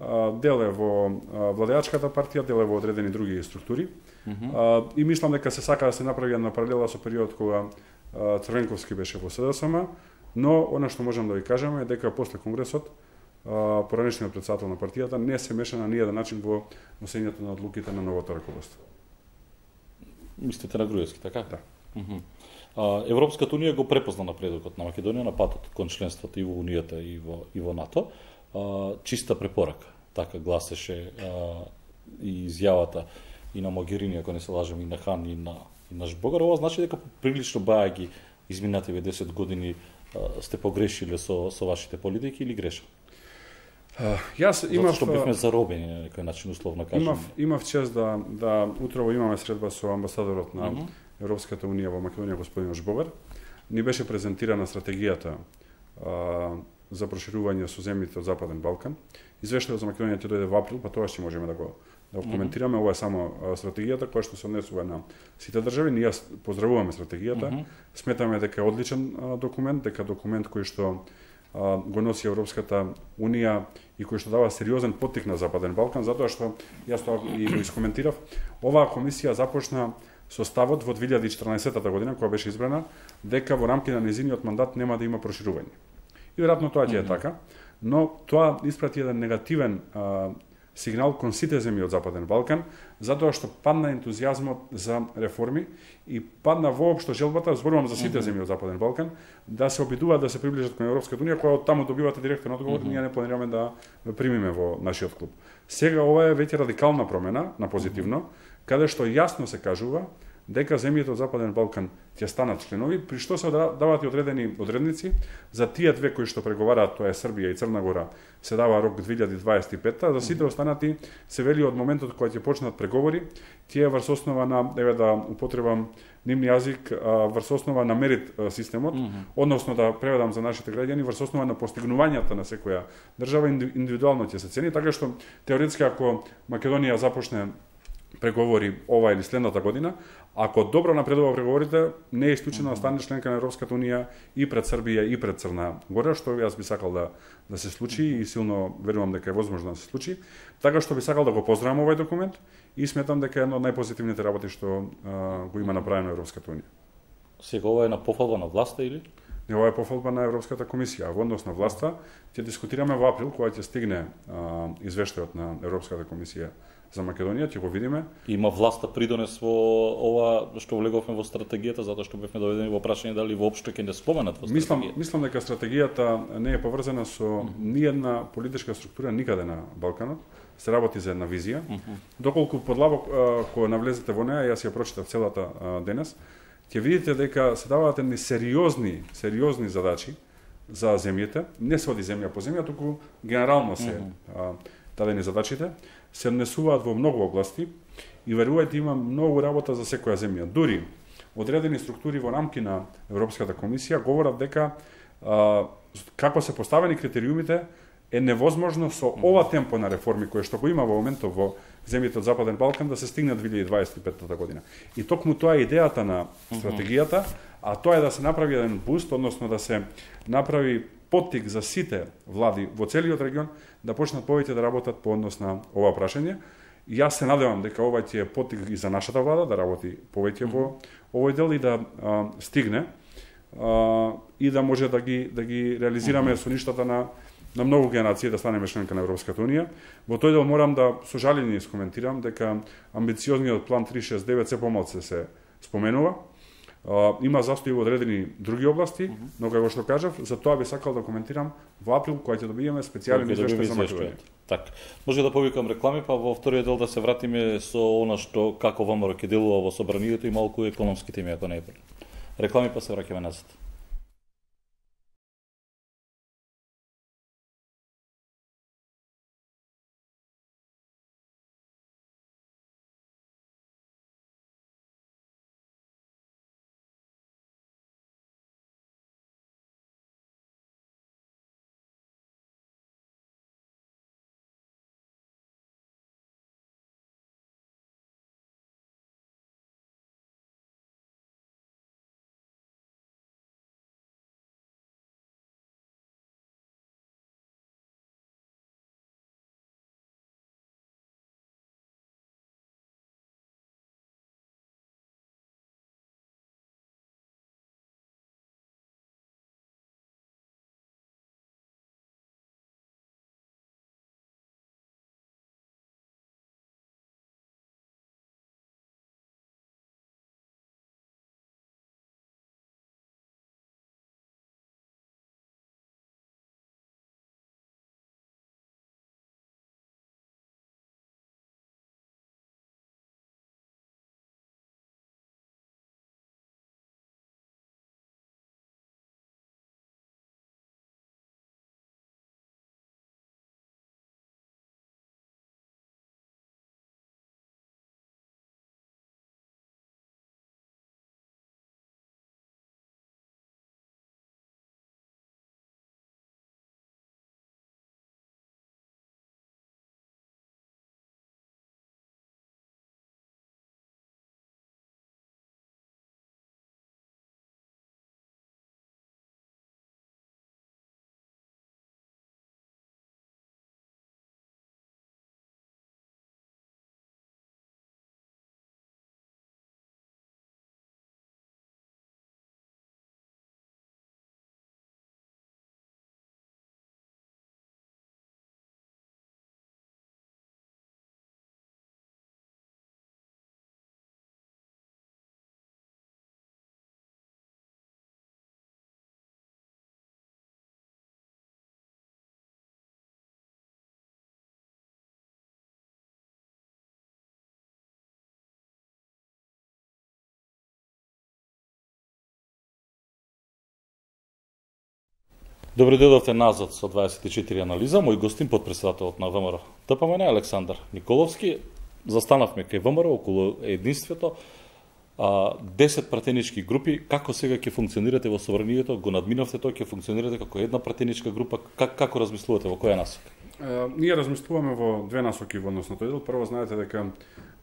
Speaker 2: А, дел е во а, владеачката партија, дел е во одредени други структури. Mm-hmm. А, и мислам дека се сака да се направи една паралела со период кога а, Црвенковски беше во СДСМ, но она што можам да ви кажеме е дека после конгресот поранешниот претседател на партијата не се меша на ниједен начин во носењето на одлуките на новото раководство.
Speaker 1: Мислите на Груевски, така?
Speaker 2: Да.
Speaker 1: Uh-huh. А, Европската унија го препозна напредокот на Македонија на патот кон членството и во Унијата и во и во НАТО. А, чиста препорака, така гласеше а, и изјавата и на Могерини, ако не се лажам, и на Хан и на и на Жбогар. Ова значи дека прилично бајаги изминативе десет години а, сте погрешиле со со вашите политики или грешам?
Speaker 2: Uh, јас имав
Speaker 1: Зато што бевме заробени на некој начин условно кажам.
Speaker 2: Имав имав чест да да утрово имаме средба со амбасадорот на uh-huh. Европската унија во Македонија господин Жбогар. Ни беше презентирана стратегијата а, за проширување со земјите од Западен Балкан. Извештајот за Македонија ќе дојде во април, па тоа ќе можеме да го да го коментираме. Uh-huh. Ова е само а, стратегијата која што се однесува на сите држави. Ние поздравуваме стратегијата. Uh-huh. Сметаме дека е одличен а, документ, дека документ кој што го носи Европската унија и кој што дава сериозен поттик на Западен Балкан, затоа што јас тоа и го искоментирав. Оваа комисија започна со ставот во две илјади и четрнаесетта година, кога беше избрана, дека во рамки на незиниот мандат нема да има проширување. И веројатно тоа ќе е така, но тоа испрати еден негативен а, сигнал кон сите земји од Западен Балкан, затоа што падна ентузијазмот за реформи и падна воопшто желбата, зборувам за сите земји од Западен Балкан, да се обидуваат да се приближат кон Европската унија, која од таму добивате директен одговор, ние не планираме да примиме во нашиот клуб. Сега ова е веќе радикална промена на позитивно, каде што јасно се кажува дека земјите од Западен Балкан ќе станат членови, при што се дават и одредени одредници за тие две кои што преговараат, тоа е Србија и Црна Гора, се дава рок две илјади дваесет и петта, за сите останати се вели од моментот кога ќе почнат преговори, тие врз основа на, еве да употребам нивни јазик, врз основа на мерит системот, mm-hmm. односно да преведам за нашите граѓани, врз основа на постигнувањата на секоја држава индивидуално ќе се цени, така што теоретски ако Македонија започне преговори ова или следната година, ако добро напредува преговорите, не е исклучено да стане членка на Европската унија и пред Србија и пред Црна Гора, што јас би сакал да да се случи и силно верувам дека е возможно да се случи. Така што би сакал да го поздравам овој документ и сметам дека е една од најпозитивните работи што а, го има направено Европската унија.
Speaker 1: Сега ова е на пофалба на власта или?
Speaker 2: Не, ова е пофалба на Европската комисија. Во однос на власта ќе дискутираме во април кога ќе стигне а, извештајот на Европската комисија за Македонија, ќе го видиме.
Speaker 1: Има власта придонес во ова што влеговме во стратегијата, затоа што бевме доведени во прашање дали воопшто ќе не споменат во стратегијата.
Speaker 2: Мислам, мислам дека стратегијата не е поврзана со mm-hmm. ниедна политичка структура никаде на Балканот. Се работи за една визија. Mm-hmm. Доколку подлабоко кога навлезете во неа, јас ја прочитав целата а, денес, ќе видите дека се даваат едни сериозни, сериозни задачи за земјите. Не се оди земја по земја, туку генерално се mm-hmm. а, дадени задачите. Се однесуваат во многу области и верувајте има многу работа за секоја земја. Дури одредени структури во рамки на Европската комисија говорат дека а, како се поставени критериумите е невозможно со ова темпо на реформи кое што го има во моментов во земјите од Западен Балкан да се стигне две илјади дваесет и петта година. И токму тоа е идејата на стратегијата, а тоа е да се направи еден буст, односно да се направи поттик за сите влади во целиот регион да почнат повеќе да работат по однос на ова прашање. Јас се надевам дека ова ќе е поттик и за нашата влада да работи повеќе во овој дел и да а, стигне а, и да може да ги да ги реализираме соништата на на многу генерации да станеме членка на Европската унија. Во тој дел морам да со жалење искоментирам дека амбициозниот план три шест девет се помалку се споменува. Uh, има застои во одредени други области, mm-hmm. но како што кажав, за тоа би сакал да коментирам во април кога ќе добиеме специјален извештај за Македонија.
Speaker 1: Так, може да повикам реклами, па во вториот дел да се вратиме со она што како ВМРО ќе делува во собранието и малку економски теми, ако не е. Реклами, па се враќаме назад. Добре дојдовте назад со дваесет и четири анализа. Мој гостин, потпредседателот на ВМРО Д П М Н Александар Николовски. Застанавме кај ВМРО околу единството. А, десет пратенички групи, како сега ќе функционирате во собранието? Го надминавте тоа, ќе функционирате како една пратеничка група? Как, како размислувате, во која насока?
Speaker 2: Uh, ние размислуваме во две насоки во однос на тој дел. Прво, знаете дека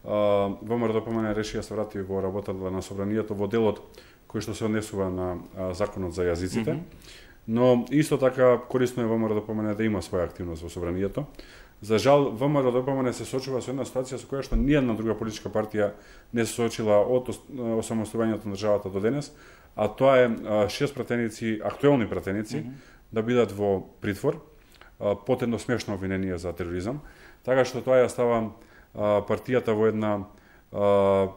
Speaker 2: uh, ВМРО Д П М Н реши да се врати во работата на собранието во делот кој што се однесува на uh, законот за јазиците. Mm -hmm. Но исто така корисно е ВМРО Д П М Н да има своја активност во собранието. За жал, ВМРО Д П М Н се соочува со една ситуација со која што ниједна друга политичка партија не се соочила од осамостојањето на државата до денес, а тоа е шест пратеници, актуелни пратеници, mm -hmm. да бидат во притвор под едно смешно обвинение за тероризам, така што тоа ја става партијата во една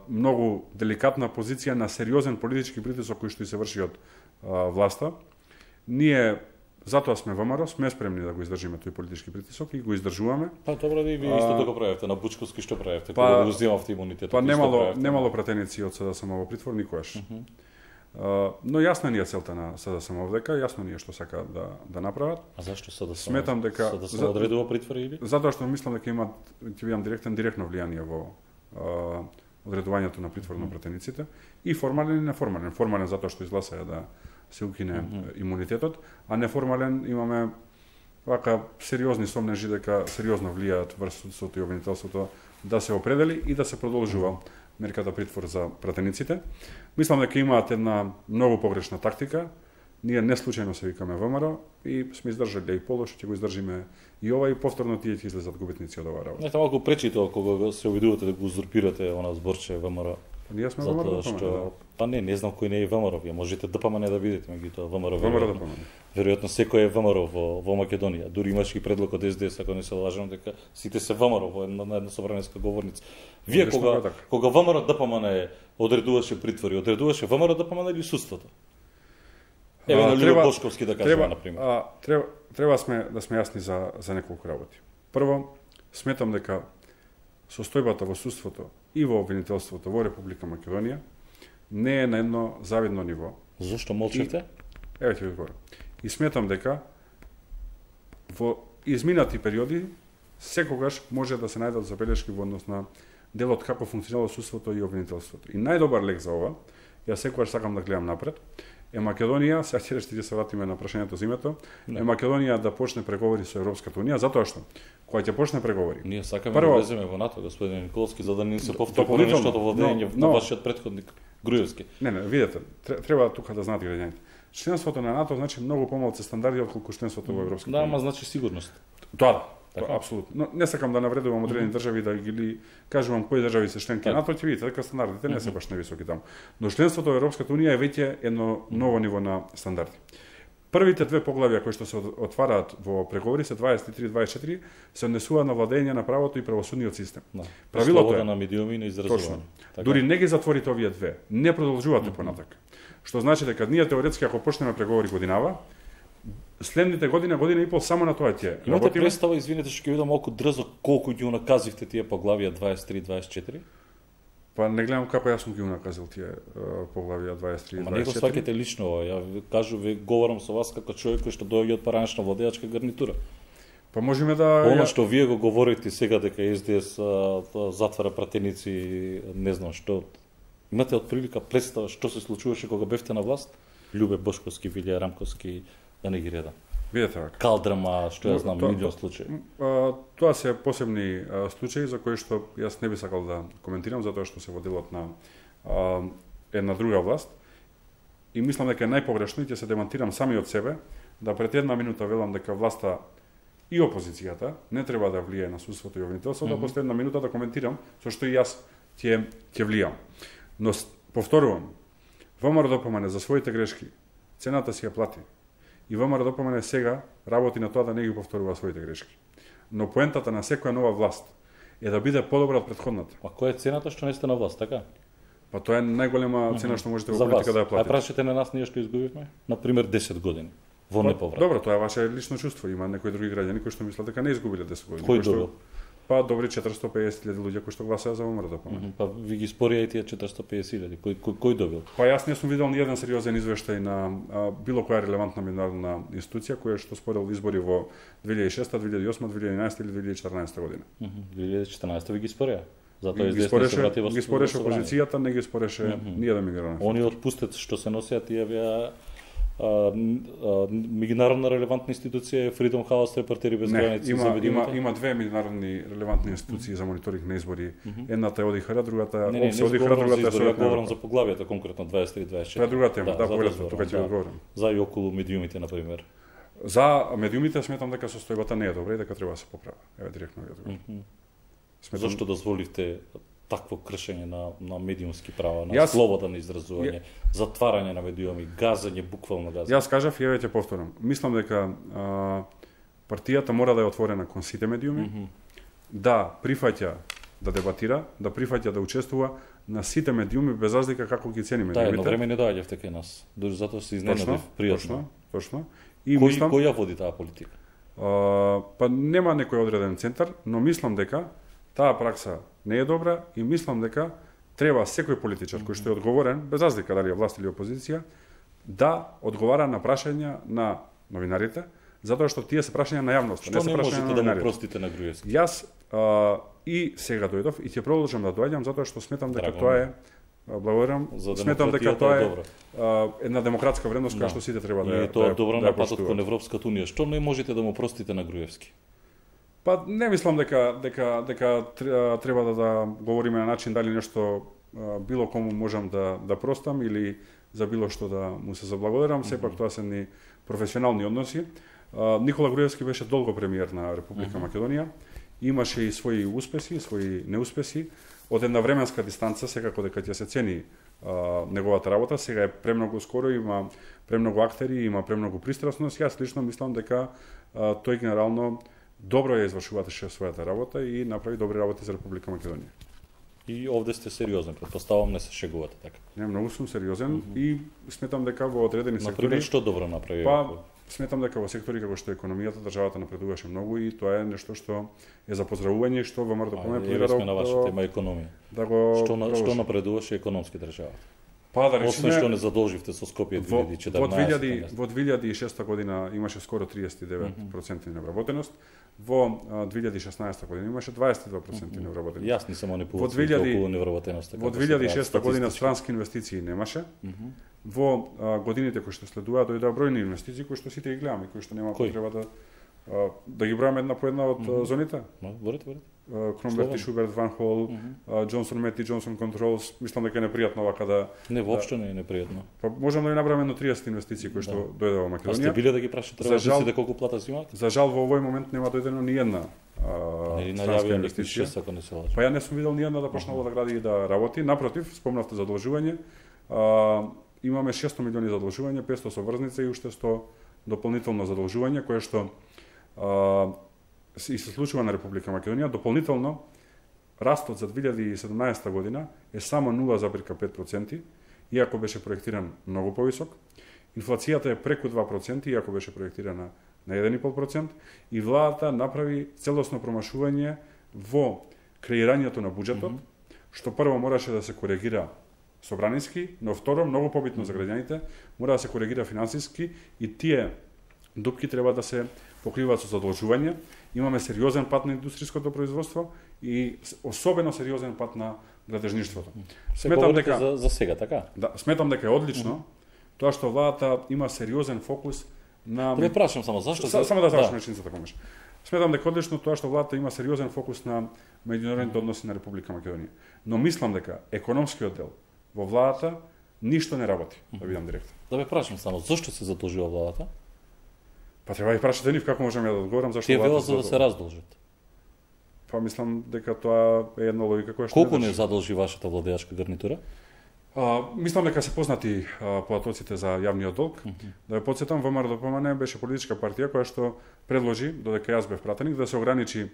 Speaker 2: многу деликатна позиција на сериозен политички притисок кој што и се врши од власта. Ние затоа сме ВМРО, сме спремни да го издржиме тој политички притисок и го издржуваме.
Speaker 1: Па добро, да и вие исто така правевте, на Бучковски што правевте, па, кога го земавте имунитетот.
Speaker 2: Па немало, немало пратеници од С Д С М во притвор никогаш. Uh -huh. uh, но јасна ни е целта на С Д С М дека, јасно ни е што сака да да направат.
Speaker 1: А зашто С Д С М?
Speaker 2: Сметам дека
Speaker 1: С Д С М одредува притвор или?
Speaker 2: Затоа што мислам дека има, ќе видам директен директно влијание во uh, одредувањето на притвор на пратениците и формален и неформален. Формален затоа што изгласаја да се укине mm -hmm. имунитетот, а неформален имаме вака сериозни сомнежи дека сериозно влијаат врз судството и обвинителството да се определи и да се продолжува мерката притвор за пратениците. Мислам дека имаат една многу погрешна тактика. Ние не случајно се викаме ВМРО и сме издржале и полош, ќе го издржиме и ова и повторно тие ќе излезат губитници од оваа работа.
Speaker 1: Не, малку пречи тоа кога се обидувате да го узурпирате она зборче ВМРО.
Speaker 2: Ние сме ВМРО
Speaker 1: Затоа
Speaker 2: ДПМН.
Speaker 1: што па не, не знам кој не е ВМРО, вие можете ДПМН да бидете, меѓутоа ВМРО.
Speaker 2: ВМРО ДПМН.
Speaker 1: Веројатно секој е ВМРО во во Македонија. Дури имаше и предлог од Ес Де Ес, ако не се лажам, дека сите се ВМРО во една, на една собраниска говорница. Вие
Speaker 2: Конечно,
Speaker 1: кога
Speaker 2: така.
Speaker 1: кога ВМРО ДПМН одредуваше притвори, одредуваше ВМРО ДПМН или судството? Еве на Любо Бошковски да кажеме на пример.
Speaker 2: А, треба треба сме да сме јасни за за неколку работи. Прво, сметам дека состојбата во судството и во обвинителството во Република Македонија не е на едно завидно ниво.
Speaker 1: Зошто молчевте?
Speaker 2: Еве ќе ви одговорам. И сметам дека во изминати периоди секогаш може да се најдат забелешки во однос на делот како функционира судството и обвинителството. И најдобар лек за ова, јас секогаш сакам да гледам напред, е Македонија, сега ќе ще се вратиме на прашањето за името, е Македонија да почне преговори со Европската унија, затоа што кога ќе почне преговори.
Speaker 1: Ние сакаме
Speaker 2: Прво,
Speaker 1: да влеземе во НАТО, господин Николски, за да не се повтори
Speaker 2: дополнително,
Speaker 1: нештото во дење
Speaker 2: но-
Speaker 1: на вашиот претходник Груевски.
Speaker 2: Не, не, видете, тре- треба тука да знаат граѓаните. Членството на НАТО значи многу помалку стандарди отколку членството во Европската
Speaker 1: Да,
Speaker 2: унија.
Speaker 1: ама значи сигурност.
Speaker 2: Тоа да,
Speaker 1: Така.
Speaker 2: тоа, апсолутно. Но не сакам да навредувам одредени држави да ги кажувам кои држави се членки
Speaker 1: Така.
Speaker 2: на НАТО, ќе видите дека стандардите не се баш нависоки таму. Но членството во Европската унија е веќе едно ново ниво на стандарди. Првите две поглавја кои што се од- отвараат во преговори се дваесет и три и дваесет и четири се однесуваат на владење на правото и правосудниот систем.
Speaker 1: Да.
Speaker 2: Правилото
Speaker 1: Слобода
Speaker 2: е
Speaker 1: на медиуми и на
Speaker 2: точно.
Speaker 1: изразување. Така.
Speaker 2: Дури не ги затворите овие две, не продолжувате понатака. Што значи дека ние теоретски ако почнеме преговори годинава, следните година, година и пол само на тоа ќе
Speaker 1: Имате
Speaker 2: работиме.
Speaker 1: представа, извинете, што ќе видам малку дрзо колку ги унаказивте тие поглавија дваесет и три и дваесет и четири?
Speaker 2: Па не гледам како јас сум ги унаказил тие е, поглавија дваесет и три и
Speaker 1: Ама не го
Speaker 2: дваесет и четири.
Speaker 1: сваќате лично ова. Ја ви кажу, ви говорам со вас како човек кој што доаѓа од паранична владеачка гарнитура.
Speaker 2: Па можеме да
Speaker 1: Оно
Speaker 2: ја-
Speaker 1: што вие го говорите сега дека Ес Де Ес а, а, затвара пратеници, не знам што. Имате отприлика представа што се случуваше кога бевте на власт? Љубе Бошковски, Вилија Рамковски, да не ги редам.
Speaker 2: видете вака.
Speaker 1: Калдрама, што ја знам,
Speaker 2: Тоа-
Speaker 1: милион случаи.
Speaker 2: А, Тоа се посебни а, случаи за кои што јас не би сакал да коментирам затоа што се во делот на а, една друга власт. И мислам дека е најпогрешно и ќе се демонтирам сами од себе да пред една минута велам дека власта и опозицијата не треба да влијае на судството и обвинителството, mm-hmm. да после една минута да коментирам со што и јас ќе ќе влијам. Но с- повторувам, ВМРО ДПМН за своите грешки цената си ја плати. И ВМРО ДПМН сега работи на тоа да не ги повторува своите грешки. Но поентата на секоја нова власт е да биде подобра од претходната.
Speaker 1: А која е цената што не сте на власт, така?
Speaker 2: Па тоа е најголема цена што можете во
Speaker 1: За вас.
Speaker 2: политика да ја
Speaker 1: А
Speaker 2: платите.
Speaker 1: прашате на нас ние што изгубивме? Например десет години во
Speaker 2: Па,
Speaker 1: неповрат.
Speaker 2: добро, тоа е ваше лично чувство. Има некои други граѓани кои што мислат дека не изгубиле десет години.
Speaker 1: Кој
Speaker 2: кои што-
Speaker 1: добил?
Speaker 2: Па добри четиристо и педесет илјади луѓе кои што гласаа за ВМРО ДПМН.
Speaker 1: Мгм, Па ви ги спорија и тие четиристо и педесет илјади. Кој, кој, кој добил?
Speaker 2: Па јас не сум видел ни еден сериозен извештај на а, било која релевантна меѓународна институција која што спорил избори во две илјади и шеста, две илјади и осма, две илјади и единаесета или две илјади и четрнаесета година.
Speaker 1: Мгм, две илјади и четрнаесета ви ги спорија. Затоа
Speaker 2: Ги, ги
Speaker 1: известно се
Speaker 2: спореше,
Speaker 1: врати во
Speaker 2: ги спореше
Speaker 1: во собрание.
Speaker 2: опозицијата, не ги спореше mm -hmm. ниједен меѓународен.
Speaker 1: Они отпустет што се носеат тие веа а, н- а, меѓународна релевантна институција е Freedom House, Репортери без
Speaker 2: Не,
Speaker 1: граници
Speaker 2: има,
Speaker 1: за
Speaker 2: има,
Speaker 1: медиумите.
Speaker 2: има две меѓународни релевантни институции за мониторинг на избори. Едната е ОДИХР, другата
Speaker 1: Не, не, не
Speaker 2: ОПСЕ ОДИХР,
Speaker 1: говорам за
Speaker 2: другата е
Speaker 1: избори, ја
Speaker 2: Советна
Speaker 1: говорам
Speaker 2: Европа.
Speaker 1: за поглавијата конкретно дваесет и три и дваесет и четири.
Speaker 2: Тоа е друга тема, да,
Speaker 1: затоа
Speaker 2: повелете,
Speaker 1: зборам,
Speaker 2: тука ќе ви одговорам.
Speaker 1: За и околу медиумите, например.
Speaker 2: За медиумите сметам дека состојбата не е добра и дека треба да се поправи. Еве директно ви одговорам. Сметам-
Speaker 1: Зошто дозволивте такво кршење на, на медиумски права, на
Speaker 2: Јас-
Speaker 1: слобода на изразување, затварање на медиуми, газање, буквално газање?
Speaker 2: Јас кажав и еве ќе повторам. Мислам дека а, партијата мора да е отворена кон сите медиуми, mm -hmm. да прифаќа да дебатира, да прифаќа да учествува на сите медиуми без разлика како ги цени
Speaker 1: Да, едно
Speaker 2: медиумите.
Speaker 1: време не доаѓавте кај нас. Дури затоа се
Speaker 2: Точно,
Speaker 1: изненадив пријатно.
Speaker 2: точно, точно. И
Speaker 1: Кој,
Speaker 2: мислам,
Speaker 1: кој ја води таа политика?
Speaker 2: а, па нема некој одреден центар, но мислам дека таа пракса не е добра и мислам дека треба секој политичар кој што е одговорен, без разлика дали е власт или опозиција, да одговара на прашања на новинарите, затоа што тие се прашања на јавноста,
Speaker 1: Што
Speaker 2: не се
Speaker 1: не
Speaker 2: прашања
Speaker 1: можете
Speaker 2: на
Speaker 1: да му
Speaker 2: новинарите.
Speaker 1: простите на Груевски?
Speaker 2: Јас а, и сега дојдов и ќе продолжам да доаѓам затоа што сметам дека
Speaker 1: Драго
Speaker 2: тоа
Speaker 1: ми.
Speaker 2: е а, благодарам,
Speaker 1: За
Speaker 2: сметам дека
Speaker 1: демократијата
Speaker 2: тоа
Speaker 1: е
Speaker 2: е
Speaker 1: добро.
Speaker 2: а, една демократска вредност која
Speaker 1: Да.
Speaker 2: што сите треба да
Speaker 1: И
Speaker 2: ја
Speaker 1: е тоа
Speaker 2: да ја-
Speaker 1: добро
Speaker 2: да
Speaker 1: на
Speaker 2: ја
Speaker 1: патот
Speaker 2: поштуваат.
Speaker 1: кон Европската унија. Што не можете да му простите на Груевски?
Speaker 2: Па не мислам дека дека дека тре- треба да, да говориме на начин дали нешто а, било кому можам да да простам или за било што да му се заблагодарам, сепак тоа се ни професионални односи. А, Никола Груевски беше долго премиер на Република Македонија. Имаше и своји успеси, своји неуспеси. од една временска дистанца секако дека ќе се цени а, неговата работа. Сега е премногу скоро, има премногу актери, има премногу пристрасност. Јас лично мислам дека а, тој генерално добро ја извршуваше својата работа и направи добри работи за Република Македонија.
Speaker 1: И овде сте сериозен, претпоставам не се шегувате така.
Speaker 2: Не, многу сум сериозен mm -hmm. и сметам дека во одредени сектори...
Speaker 1: Например, што добро направи?
Speaker 2: Па, сметам дека во сектори како што е економијата, државата напредуваше многу и тоа е нешто што е за поздравување и што ВМРО да помне
Speaker 1: планира да... на вашата тема економија.
Speaker 2: Да го
Speaker 1: што, на, што напредуваше економски државата?
Speaker 2: Па да речеме,
Speaker 1: освен што не задолживте со Скопје две илјади и четрнаесетта.
Speaker 2: Во две илјади и шеста година имаше скоро триесет и девет проценти невработеност. Во две илјади и шеснаесета година имаше дваесет и два проценти невработеност.
Speaker 1: Јас не се манипулирам околу невработеноста.
Speaker 2: Во две илјади и шеста година странски инвестиции немаше. Mm -hmm. Во а, годините кои што следуваа дојдоа бројни инвестиции кои што сите ги гледаме, кои што нема потреба да а, да ги бројаме една по една од mm -hmm. зоните.
Speaker 1: No, борете, борете.
Speaker 2: Кромберт и Шуберт, Ван Хол, Джонсон Мет и Джонсон Контролс, мислам дека е непријатно вака да...
Speaker 1: Не, воопшто не е непријатно.
Speaker 2: Па можам да ви набравам едно триесет инвестиции кои што да. дојде во Македонија.
Speaker 1: А сте биле да ги прашате работниците колку плата земаат?
Speaker 2: За жал во овој момент нема дојдено ни една
Speaker 1: странска инвестиција. Ако не се лажам.
Speaker 2: Па ја не сум видел ни една да почнала да гради и да работи. Напротив, спомнавте задолжување. А, имаме шесто милиони задолжување, петсто со врзница и уште сто дополнително задолжување кое што а, и се случува на Република Македонија. Дополнително, растот за две илјади и седумнаесета година е само нула зарез пет проценти, иако беше проектиран многу повисок. Инфлацијата е преку два проценти, иако беше проектирана на еден и пол процент, и владата направи целосно промашување во креирањето на буџетот, mm -hmm. што прво мораше да се коригира собраниски, но второ, многу побитно за граѓаните, мора да се коригира финансиски и тие дупки треба да се покриваат со задолжување. Имаме сериозен пат на индустријското производство и особено сериозен пат на градежништвото.
Speaker 1: Сметам дека за, за сега така.
Speaker 2: Да, сметам дека е одлично mm -hmm. тоа што владата има сериозен фокус на...
Speaker 1: Не прашам само зашто...
Speaker 2: С, само да завршам реченицата помеш. Сметам дека одлично тоа што владата има сериозен фокус на меѓународните односи на Република Македонија. Но мислам дека економскиот дел во владата ништо не работи, да бидам директор.
Speaker 1: Да ве прашам само зашто се задолжува владата?
Speaker 2: Па треба да прашате нив како можам ја да одговорам зашто
Speaker 1: Тие
Speaker 2: владата
Speaker 1: велат за да се раздолжат.
Speaker 2: Па мислам дека тоа е една логика која што
Speaker 1: колку не задолжи вашата владеачка гарнитура?
Speaker 2: А, мислам дека се познати а, податоците за јавниот долг. Mm -hmm. Да ја потсетам, ВМРО беше политичка партија која што предложи, додека јас бев пратеник, да се ограничи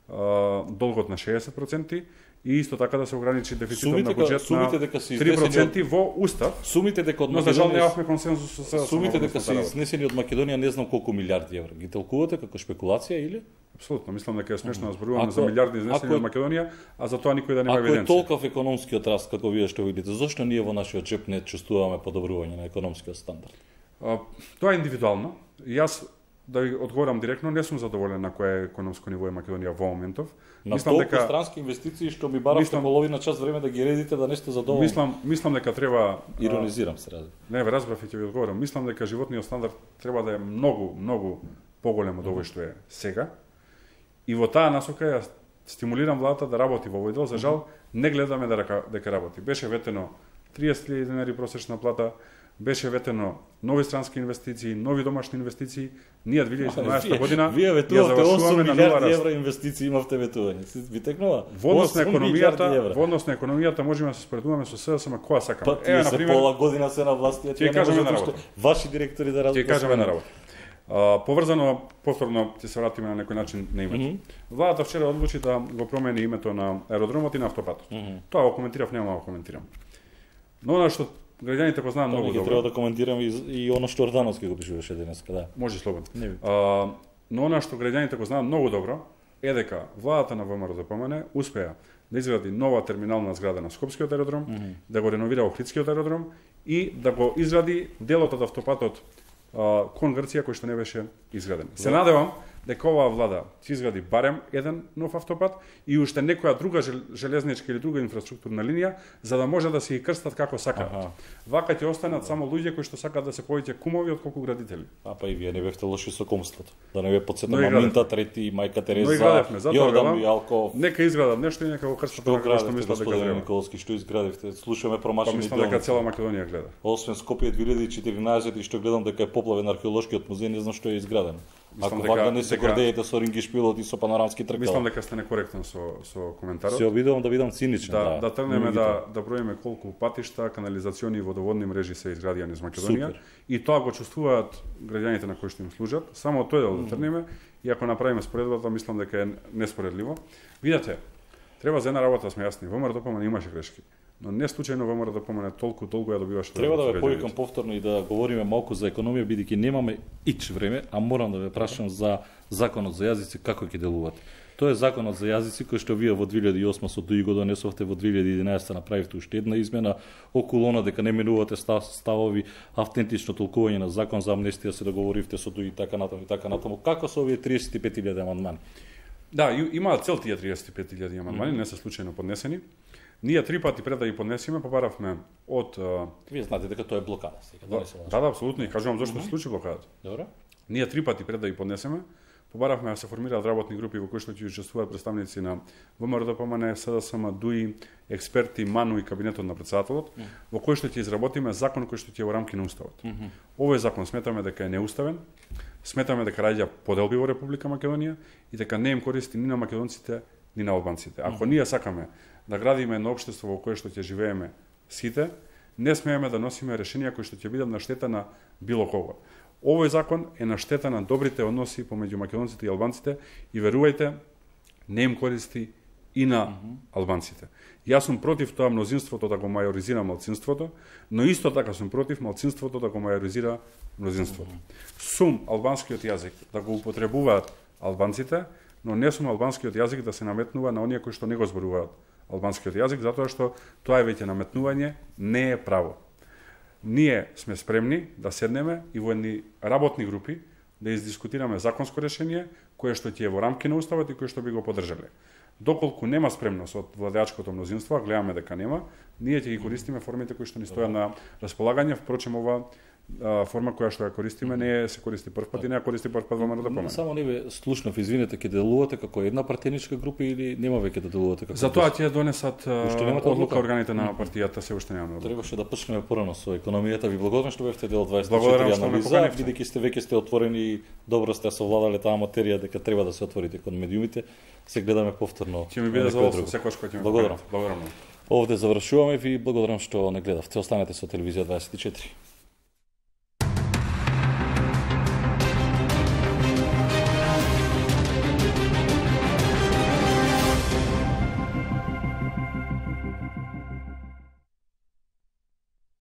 Speaker 2: а, долгот на шеесет проценти и исто така да се ограничи дефицитот сумите, на буџет на три проценти од... во устав.
Speaker 1: Сумите дека од
Speaker 2: Македонија, но за жал немавме консензус со
Speaker 1: сумите дека се изнесени од Македонија не знам колку милиарди евра. Ги толкувате како шпекулација или?
Speaker 2: Апсолутно, мислам дека е смешно да зборуваме за милиарди изнесени од Македонија, а за тоа никој да нема евиденција.
Speaker 1: Ако е толков економскиот раст како вие што видите, зошто ние во нашиот джеп не чувствуваме подобрување на економскиот стандард?
Speaker 2: А, тоа е индивидуално. Јас да ви одговорам директно, не сум задоволен на кое економско ниво е Македонија во моментов.
Speaker 1: На мислам толку дека странски инвестиции што ми баравте мислам... половина час време да ги редите да не сте задоволни.
Speaker 2: Мислам, мислам дека треба
Speaker 1: иронизирам се разбира.
Speaker 2: Не, ве разбрав и ќе ви одговорам. Мислам дека животниот стандард треба да е многу, многу поголем од овој што е сега. И во таа насока ја стимулирам владата да работи во овој дел. За жал не гледаме дека дека работи. Беше ветено триесет илјади денари просечна плата, беше ветено нови странски инвестиции, нови домашни инвестиции. Ние две илјади и седумнаесета година
Speaker 1: вие ветувате осум милиарди евра инвестиции имавте ветување. Ви текнува?
Speaker 2: Во однос на економијата, во однос на економијата можеме да се споредуваме со СДСМ која сакаме.
Speaker 1: Па, тие се пола година се на власт,
Speaker 2: тие кажеме на работа.
Speaker 1: Ваши директори да работат.
Speaker 2: Тие кажеме на работа. Uh, поврзано, повторно ќе се вратиме на некој начин на името. Mm -hmm. Владата вчера одлучи да го промени името на аеродромот и на автопатот. Mm -hmm. Тоа го коментирав, нема да го коментирам. Но она што граѓаните го знаат многу добро.
Speaker 1: Треба да коментирам и, и оно што Ордановски го пишуваше денеска, да.
Speaker 2: Може слободно. Uh, но она што граѓаните го знаат многу добро е дека владата на ВМРО успеа да изгради нова терминална зграда на Скопскиот аеродром, mm -hmm. да го реновира Охридскиот аеродром и да го изгради делот од автопатот кон Грција кој што не беше изграден. Се надевам дека оваа влада ќе изгради барем еден нов автопат и уште некоја друга железничка или друга инфраструктурна линија за да може да се ги крстат како сакаат. Ага. Вака ќе останат само луѓе кои што сакаат да се повеќе кумови од колку градители.
Speaker 1: А па и вие не бевте лоши со кумството. Да не ве потсетам на Минта трети, мајка Тереза,
Speaker 2: Јордан Јалков. Нека изградат нешто и нека го крстат
Speaker 1: како што мислат дека треба. Николски, што изградивте? Слушаме промашени
Speaker 2: делници. Па мислам дека цела Македонија гледа.
Speaker 1: Освен Скопје две илјади и четирнаесет и што гледам дека е поплавен археолошкиот музеј, не знам што е изградено. Ако вака не се гордеете со ринги шпилот и со панорамски тркала.
Speaker 2: Мислам дека сте некоректен со со коментарот.
Speaker 1: Се обидувам да бидам циничен,
Speaker 2: да.
Speaker 1: Да,
Speaker 2: да тргнеме да да броиме колку патишта, канализациони и водоводни мрежи се изградија низ Македонија. Супер. И тоа го чувствуваат граѓаните на кои што им служат. Само тој дел да тргнеме и ако направиме споредбата, мислам дека е неспоредливо. Видете, треба за една работа да сме јасни. ВМРО имаше грешки. Но не случајно ВМРО толку толку ја добиваше.
Speaker 1: Треба да ве повикам повторно и да говориме малку за економија, бидејќи немаме ич време, а морам да ве прашам за законот за јазици како ќе делувате. Тоа е законот за јазици кој што вие во две илјади и осма со ДУИ го донесовте, во две илјади и единаесета направивте уште една измена околу она дека не менувате став, ставови, автентично толкување на закон за амнестија, се договоривте со ДУИ и така натаму и така натаму. Како со овие триесет и пет илјади амандмани?
Speaker 2: Да, имаат цел тие триесет и пет илјади амандмани, mm -hmm. не се случајно поднесени. Ние три пати пред да ги поднесеме, побаравме од...
Speaker 1: Вие знаете дека тоа е блокада сега. Да,
Speaker 2: да, да, апсолутно. И кажувам зашто mm -hmm. се случи блокадата.
Speaker 1: Добро.
Speaker 2: Ние три пати пред да ги поднесеме, побаравме да се формираат работни групи во кои што ќе учествуваат представници на ВМРО, СДСМ, ДУИ, експерти, МАНУ и кабинетот на претседателот, mm -hmm. во кој што ќе изработиме закон кој што ќе е во рамки на уставот. Mm -hmm. Овој закон сметаме дека е неуставен, сметаме дека раѓа поделби во Република Македонија и дека не им користи ни на македонците, ни на албанците. Ако mm -hmm. ние сакаме да градиме едно општество во кое што ќе живееме сите, не смееме да носиме решенија кои што ќе бидат на штета на било кого. Овој закон е на штета на добрите односи помеѓу македонците и албанците и верувајте, не им користи и на mm -hmm. албанците. Јас сум против тоа мнозинството да го мајоризира малцинството, но исто така сум против малцинството да го мајоризира мнозинството. Mm -hmm. Сум албанскиот јазик да го употребуваат албанците, но не сум албанскиот јазик да се наметнува на оние кои што не го зборуваат албанскиот јазик, затоа што тоа е веќе наметнување, не е право. Ние сме спремни да седнеме и во едни работни групи да издискутираме законско решение кое што ќе е во рамки на уставот и кое што би го поддржале. Доколку нема спремност од владеачкото мнозинство, а гледаме дека нема, ние ќе ги користиме формите кои што ни стојат на располагање. Впрочем, ова форма која што ја користиме не се користи прв пат и не ја користи прв пат во ВМРО.
Speaker 1: Само не ве слушнав, извинете, ќе делувате како една партеничка група или нема веќе да делувате како?
Speaker 2: Затоа ќе донесат одлука органите на партијата, се уште немаме.
Speaker 1: Требаше да почнеме порано со економијата. Ви благодарам што бевте дел дваесет и четири анализа, бидејќи сте веќе сте отворени и добро сте совладале таа материја дека треба да се отворите кон медиумите. Се гледаме повторно.
Speaker 2: Ќе ми биде задоволство секогаш кога ќе ме
Speaker 1: благодарам.
Speaker 2: Благодарам.
Speaker 1: Овде завршуваме, ви благодарам што не гледавте. Останете со телевизија дваесет и четири.